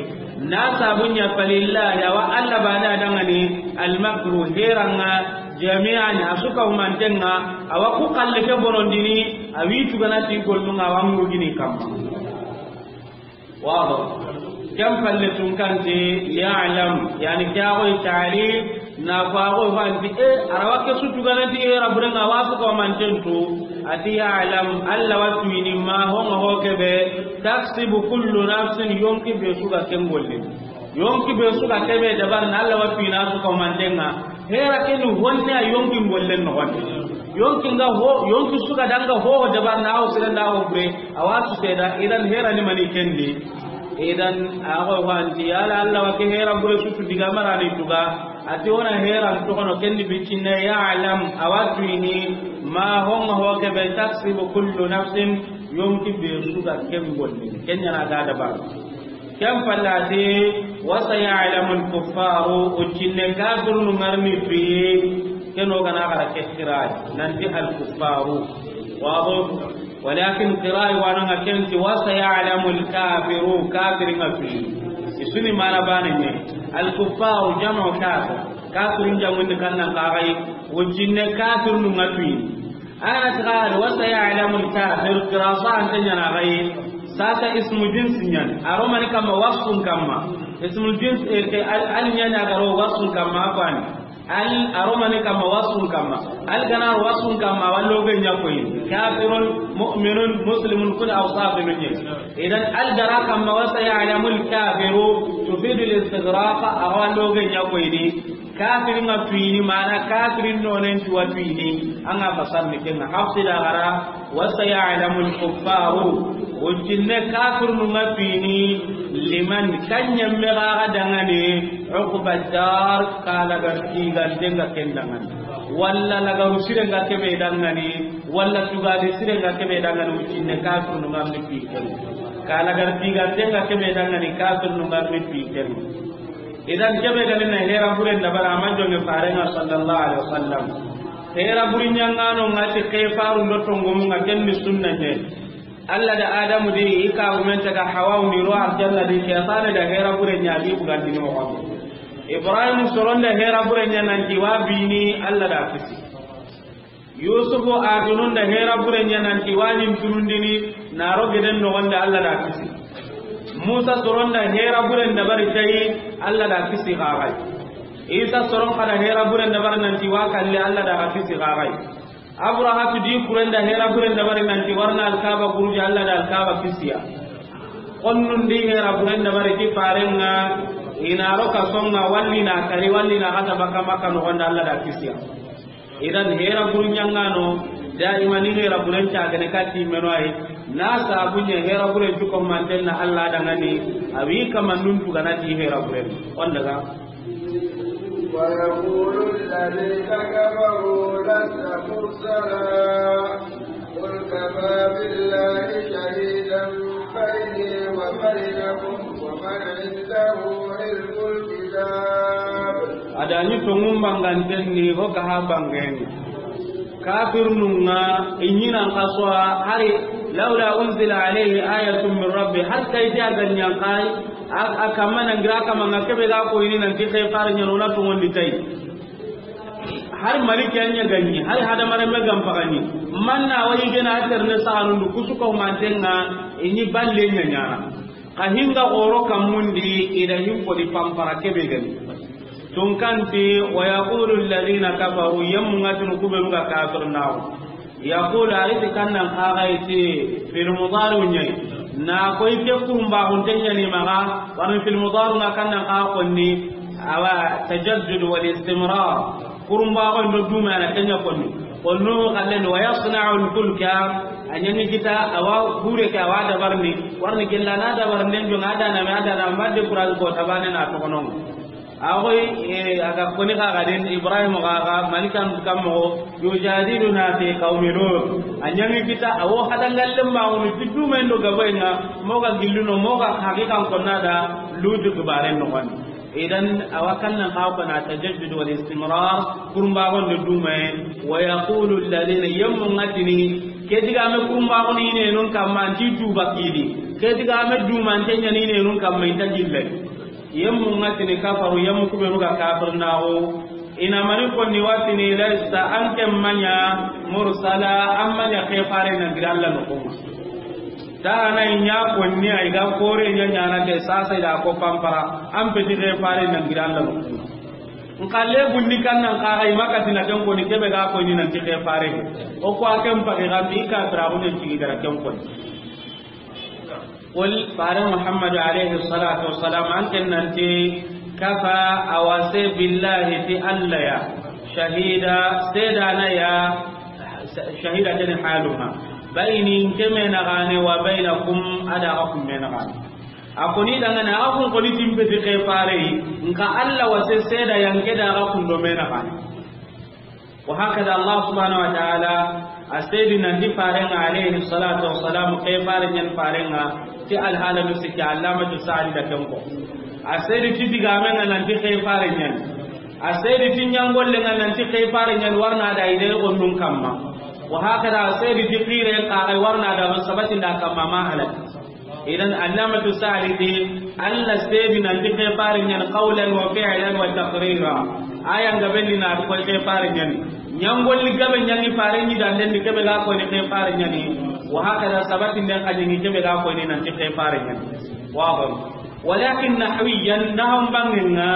Na sabunya falillahi, awa Alla bane a da ngani, al-makru, heranga, jami'an, a su ka humantenga, awa ku kalle ke bonondini, a wi tugana ti gollunga, awa murgini kamma. Wado. Kem palle tun kanti, ya'lam, yani ke a goy ta'lil, na ko a goy fanti, e, arawa ke su tugana ti hera burenga, awa su ka humanten tu, ati ya'lam, Alla wa tuyini ma, honga ho kebe, taksibu kullu nafsin, yonki be su ga ken gollini. Yonki be su ga kebe dabar na Alla wa pina su ka mantenga. Hera kenu honne a yonki gollen no honne. Yonki nga ho, yonki su ga danga ho dabar na o sira na o bure. Awa su seda, idan hera ni mani kendi. Idan a go wanti yala Alla wa ke hera bure su tu diga marani tuga. Ati ona hera to kono kendi bicinne ya'lam awa tuyini ma honga ho kebe taksibu kullu nafsin yonki be su ga ken gollini. Kenya na ga dabar. Ken pallati, wa saya'lamu al-kuffaru, o cinne kafirunu ngarni tuyi, ken o gana gara ke xiray, nanti al-kuffaru. Wado, walakin xiray wananga kenti, wa saya'lamu al-kafiru, kafirin nga tuyi. Isuni mana bane ne, al-kuffaru jam'u kafir, kafirin jamundi kannan kagai, o cinne kafirunu nga tuyi. Ana tiga da wa saya'lamu al-kafir, qirasa an tanya na gai. Sasa ismu jins nyan. Aromani kama wasfun kama. Ismu jins, eh, ke al, al nyan a garo wasfun kama afan. Al aromani kama wasfun kama. Al gana wasfun kama wallo ga nya koyi. Kafirun, mu'minun, muslimun, kul awsafun nyan. Idan al gara kama wa saya'lamu al-kafiru tufidu al-istighraq, a wallo ga nya koyi ni. Kafirin nga tuyini, mana kafirin nonen tuwa tuyini, an ga fasar ni kenga. Hafsi da gara, wa saya'lamu al-kuffaru, o cinne kafirinu nga tuyini, liman, kanyemme ga ga dangane, uqba dar, ka laga tiga denga ken dangane. Walla laga rusire nga kebe dangane, Walla tugadi sire nga kebe dangani wuccinne kafirnu nga mi pi ken. Kala gar tiga tenga kebe dangani kafirnu nga mi pi ken. Idan kebe gani na hera buren da bara ma jonge farenga sallallahu alaihi wasallam. Hera burin yangano nga ti kefaru ndo tongumu nga kenni sunna ne. Allah da Adamu di ika gumen taga Hawa ni ro aljanna di, shaytan da hera buren ya bi bugandi mo. Ibrahim soronda hera buren ya nanti wa bini Allah da kisi. Yusufu a tununda hera buren ya nanti wa ɲin tunundini na ro geden no wanda Allah da kisi. Musa soronda hera buren da bari tayi Allah da kisi gagai. Isa soron kada hera buren da bari nanti wa kalle Allah da kisi gagai. Abrahatu di kurenda hera buren da bari nanti warna alkaba guruji Allah da alkaba kisiya. Konnun di hera buren da bari ti farenga ina ro ka songa walli na kari walli na kata baka maka no wanda Allah da kisiya. Idan hera burunyangano daima ni hera buren ta gane kati meno ay na sabunya hera buren juko manten na Allah da ngani awi kamannun tugana ti hera buren on daga. ويقول الذين كفروا لست مرسلا قل كفى بالله شهيدا بيني وبينكم ومن عنده علم الكتاب. Adani tongum banganten ni ho gaha bangeni. Kafirnunga inyinan kaswa hari laula unzila alayhi ayatun min rabbi, har kai ta ganyan kai. A kamma nan gira kamma nga kebe ga ko ini nan ti kefare nyano na to wondi tay. Har maliki anya ganyi har hada mare me gam pagani. Manna wayi gena ater ne sahanundu kusuko mantenga ini balle nyanyana. Ka hinga oro kammundi ida hinko di pampara kebe gani. Tunkanti wa yaqulu alladhina kafaru, yammu ngatinu kubenu ga kafir nawo. Yaqulu, ariti kannan kaga iti fil mudari nyai. Na koy ke kurumba hunte nyani maga, warni fil mudari nga kannan kaga konni, awa tajaddud wal istimrar. Kurumba ko ndo duma na kenya konni. Konno kallen wa yasna'u al fulka, anyani kita awa hure ke awa dabarni, warni gella na dabarni ndo ngada na me ada na mbade kural ko tabane na to kono. Awoy, eh, aga koni kaga den Ibrahim kaga malikan kammo yujadiluna fi qaumi Lut. Anyami kita awo hadangalle ma woni tidumen do gabayna moga gilluno moga haqiqan konnada Lut gibaren no wan. Idan awa kannan kaga kona tajaddud wal istimrar kurumba gon do dume wa yaqulu alladhina yammu ngatini kediga me kurumba gon ine non kamma anti duba kidi kediga me duma antenya ine non kamma inta gille. Yemmu ngatini kafaru, yemmu kubenu ga kafir nawo. Ina mani konni watini lasta anke manya mursala, an manya kefare na gira Allah no kuma. Da na inya konni ay ga kore nya nya na de sasa ida ko pampara, an peti kefare na gira Allah no kuma. Nkalle bundi kannan kaga imakatina ken koni kebe ga koni nan ti kefare. O ko akem pake ga bi kafira ko ne tigi gara ken koni. Qul, fare Muhammadu alayhi salatu wassalam, an ken nanti, kafa, awase, billahi, ti Allah ya, shahida, sedana ya, shahida tani haluha, bayni, nke me na gane, wa baynakum, ada ga kun me na gane. A koni dangane, a kun koni timpe ti ke fare, nka Allah wase seda yanke da ga kun do me na gane. Wa hakada Allah subhanahu wa ta'ala a sedi nanti farenga alayhi salatu wassalam ke fare nyan farenga ti alhala nu sikki Allamatu Sa'di da kenko. A sedi ti digamenga nanti ke fare nyan. A sedi ti nyangollenga nanti ke fare nyan warna da ide gonnun kamma. Wa hakada a sedi ti qire ka warna da sabati da kamma ma halak. Idan Allamatu Sa'di ti Allah sedi nanti ke fare nyan qawlan wa fi'lan wa taqrira. Aya nga belli na ko ke fare nyan. Nyangolli gabe nyan ni fare ni dan den kebe ga ko ni ke fare nyan ni. Wa hakada sabati den ka ni kebe ga ko ni nanti ke fare nyan. Wa ba. Walakin nahwiyan naham bangenga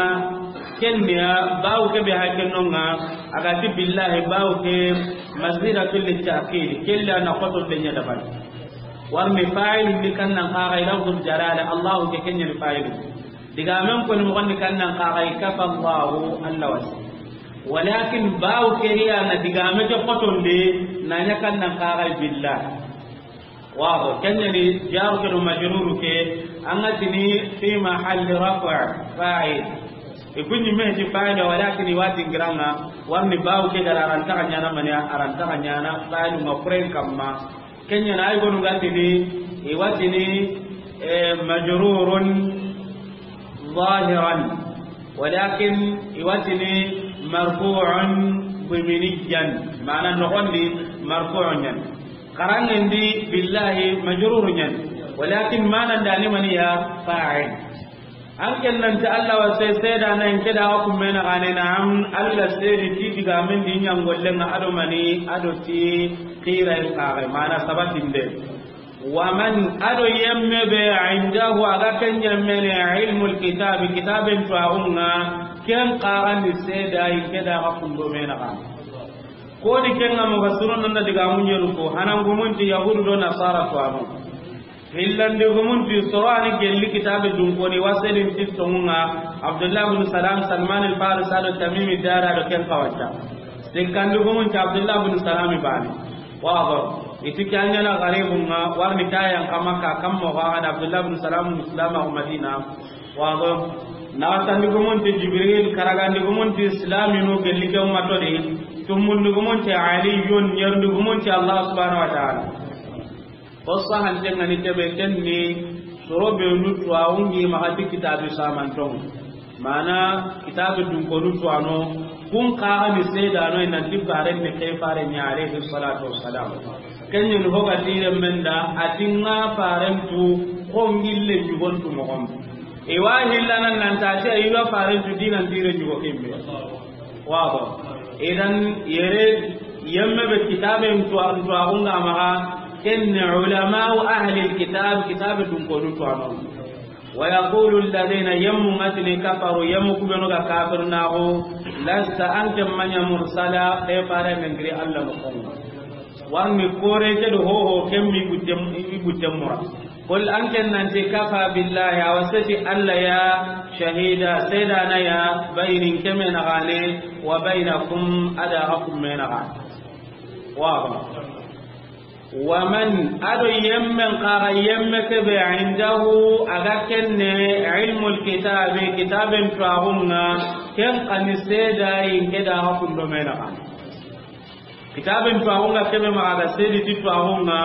kenya bawo kebe hakenonga agati billahi bawo ke mazida fil ta'kid kella na qoto den ya dabal. Warni fa'il ni kannan kaga lafzul jalala, Allah ke kenyan fa'il. Digamen ko ni mo ni kannan kaga kafa Allah, Allah wasi. Walakin bawo ke riya na digame ke qotonde na nya kannan kaga billah. Wa kenyan ni jar ke do majrur ke angatini fi mahall raf' fa'il. I ku ɲi me ti fa'ila, walakin i wa dingira ŋa, warni bawu ke gara a ra nta xa ɲaana mani ya, a ra nta xa ɲaana fa'ilu ŋa kuren kamma. Ken ɲa na ay gonu ga tini, i wa tini, eh, majrurun zahiran, walakin i wa tini marfu'un diminiyan, maana noxon di marfu'un ɲa ni. Xaranŋen di billahi majrurun ɲa ni, walakin maana nda ni mani ya? Fa'il. An ken nan ti Alla wa se-, seedana in ke da ga kumme na gane na am, Alla seedi ti digamen di ɲa n golle ŋa a do mani, a do ti xira in kaxe, maana sabatinde. Wa man, a do yemme be, indahu, a ga ken yemme ne, ilmul kitabi, kitaben tuwaxun ŋa, ken kaxa ni seeda in ke da ga kundo me na gane. Ko di ken ŋa mufassirun nan da digamun ɲeru ko, hanan gumun ti Yahudu do Nasara tuwaxu. Hillandi gumun ti soro a ni gelli kitabe dunkoni wa seedin ti tonŋun ŋa, Abdullah bin Salam, Salman al Farisi a do Tamimi Dari a do ken xawanta. Sikkandi gumun ti Abdullah bin Salam bani. Wado. I ti ke a ɲa na garibun ŋa, warni ta yan kama ka kam mo ga da Abdullah bin Salam Islam a Madina. Wado. Naxatandi gumun ti Jibril, karagandi gumun ti Islaminu gelli ke ummato di. Tumundi gumun ti Aliyun, ɲerundi gumun ti Allah subhanahu wa ta'ala. Fo sahanten ŋa ni kebe, ken ni soro be nu tuwaxun ŋi maxa ti kitabi samanton. Maana kitabi dunkonu tuwaxu no, kun kaxa ni seedano i nan ti faren ni ke faren ɲa alayhi salatu wassalam. Ken ɲa ni ho ga tire men da, a ti ŋa faren tu xo n gille ɲugon tu moxon. I wa hillanan nan ta ti a yi wa faren tu dinan tire ɲugo kimbe. Wado. Idan yere yemme be kitaben tuwa-, tuwaxun ŋa maxa, ken ni ulama'u ahli kitab, kitabe dunkonu tuwaxu no. Wa yaqulu alladhina, yemmu ŋa tini, kafaru, yemmu ku be nu ga kafir naxu, lasta, an ke ma ɲa mursala, ke fare men giri Alla noxon ŋa. Warni kore ke do hoho ken mi gutte, i gutte mura. Qul, an ken nan ti, kafa billahi, a wa seti Alla ya, shahida, seedana ya, bayni, ke me na gane, wa baynakum, a da ga kumme na gane. Wado. Wa man, a do yemmen kaxa yemme kebe, indahu, a ga kenne, ilmul kitabi, kitaben tuwaxun ŋa, ken xa ni seeda in ke da ga kundo me na gane. Kitaben tuwaxun ŋa kebe maxa ga seedi ti tuwaxun ŋa,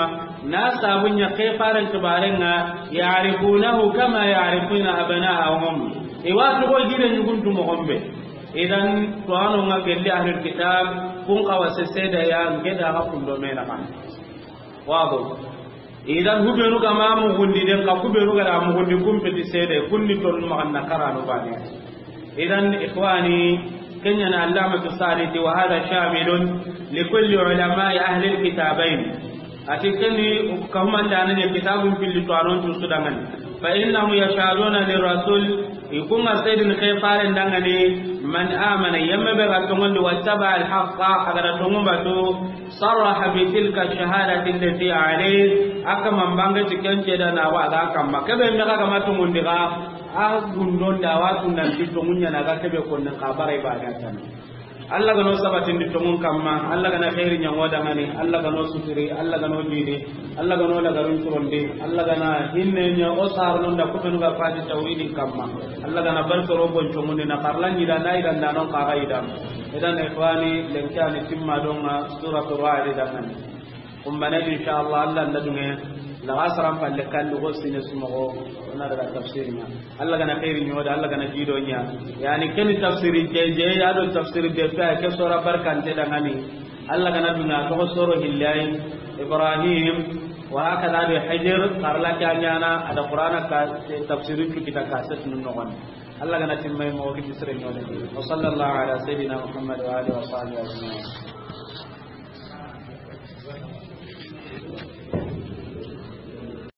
na sabun ɲa ke faren kibaren ŋa, ya'rifunahu kama ya'rifuna abna'ahum. I wa toxo gire ɲugun tu moxon be. Idan tuwaxun ŋa gelli ahlul kitab, kun xa wa se seeda ya n ke da ga kundo me na gane. Wado. Idan hubenu ga ma mugundi den ka kubenu ga da mugundi kun peti seede, kun ni tonu maxa na karanu bane. Idan ikhwani, ken ɲa na Allamatu Sa'di ti, wa hadha shamilun li kulli ulama'i ahli al-kitabayn. A ti ken ni ka humanda ne kitabun pilli tuwanon tu su danŋani. Fa innahum yashhaduna lirrasul, i kun ŋa seedini ke faren danŋani, man amana, yemme be ga tonŋundi, wattaba al-haqqa, a ga da tonŋun batu, sarraha bi tilka shahadati allati alayhi, a kaman bange ti ken seedana wa a ga kamma. Kebe me ga ma tonŋundi ga, a gundon da wa tunanti tonŋun ɲa na ga kebe konnen xa bare ba ga tan. Alla ga no sabatindi tonŋun kamma, Alla ga na xeeri ɲa ŋo danŋani, Alla ga no suturi, Alla ga no jidi, Alla ga no lagarun curondi, Alla ga na hinne ɲa o sarnon da kubenu ga fati tawhidin kamma. Alla ga na bar soro bon comundi na karla ɲida na idan da non kaga idan. Idan ikhwani, lenkani timma donŋa suratu Ra'd danŋani. Kumbane di, inshallah, Alla nda dunŋe, laga saran palle kallu go sine sumogo, o na daga tafsir ŋa. Alla ga na xeeri ɲa o da, Alla ga na jido ɲa. Yani ken tafsiri je je, ya do tafsiri be pe, ke sora barkante danŋani. Alla ga na dunŋa toxo soro hillay, Ibrahim, wa hakada do Hijr, karla ke ɲaana, a da Qur'ana ka tafsiri tu kita kaset nun noxon. Alla ga na timmay mo kiti sere ɲa o da. Wa sallallahu ala sayyidina Muhammad wa alihi wa sahbihi ajma'in.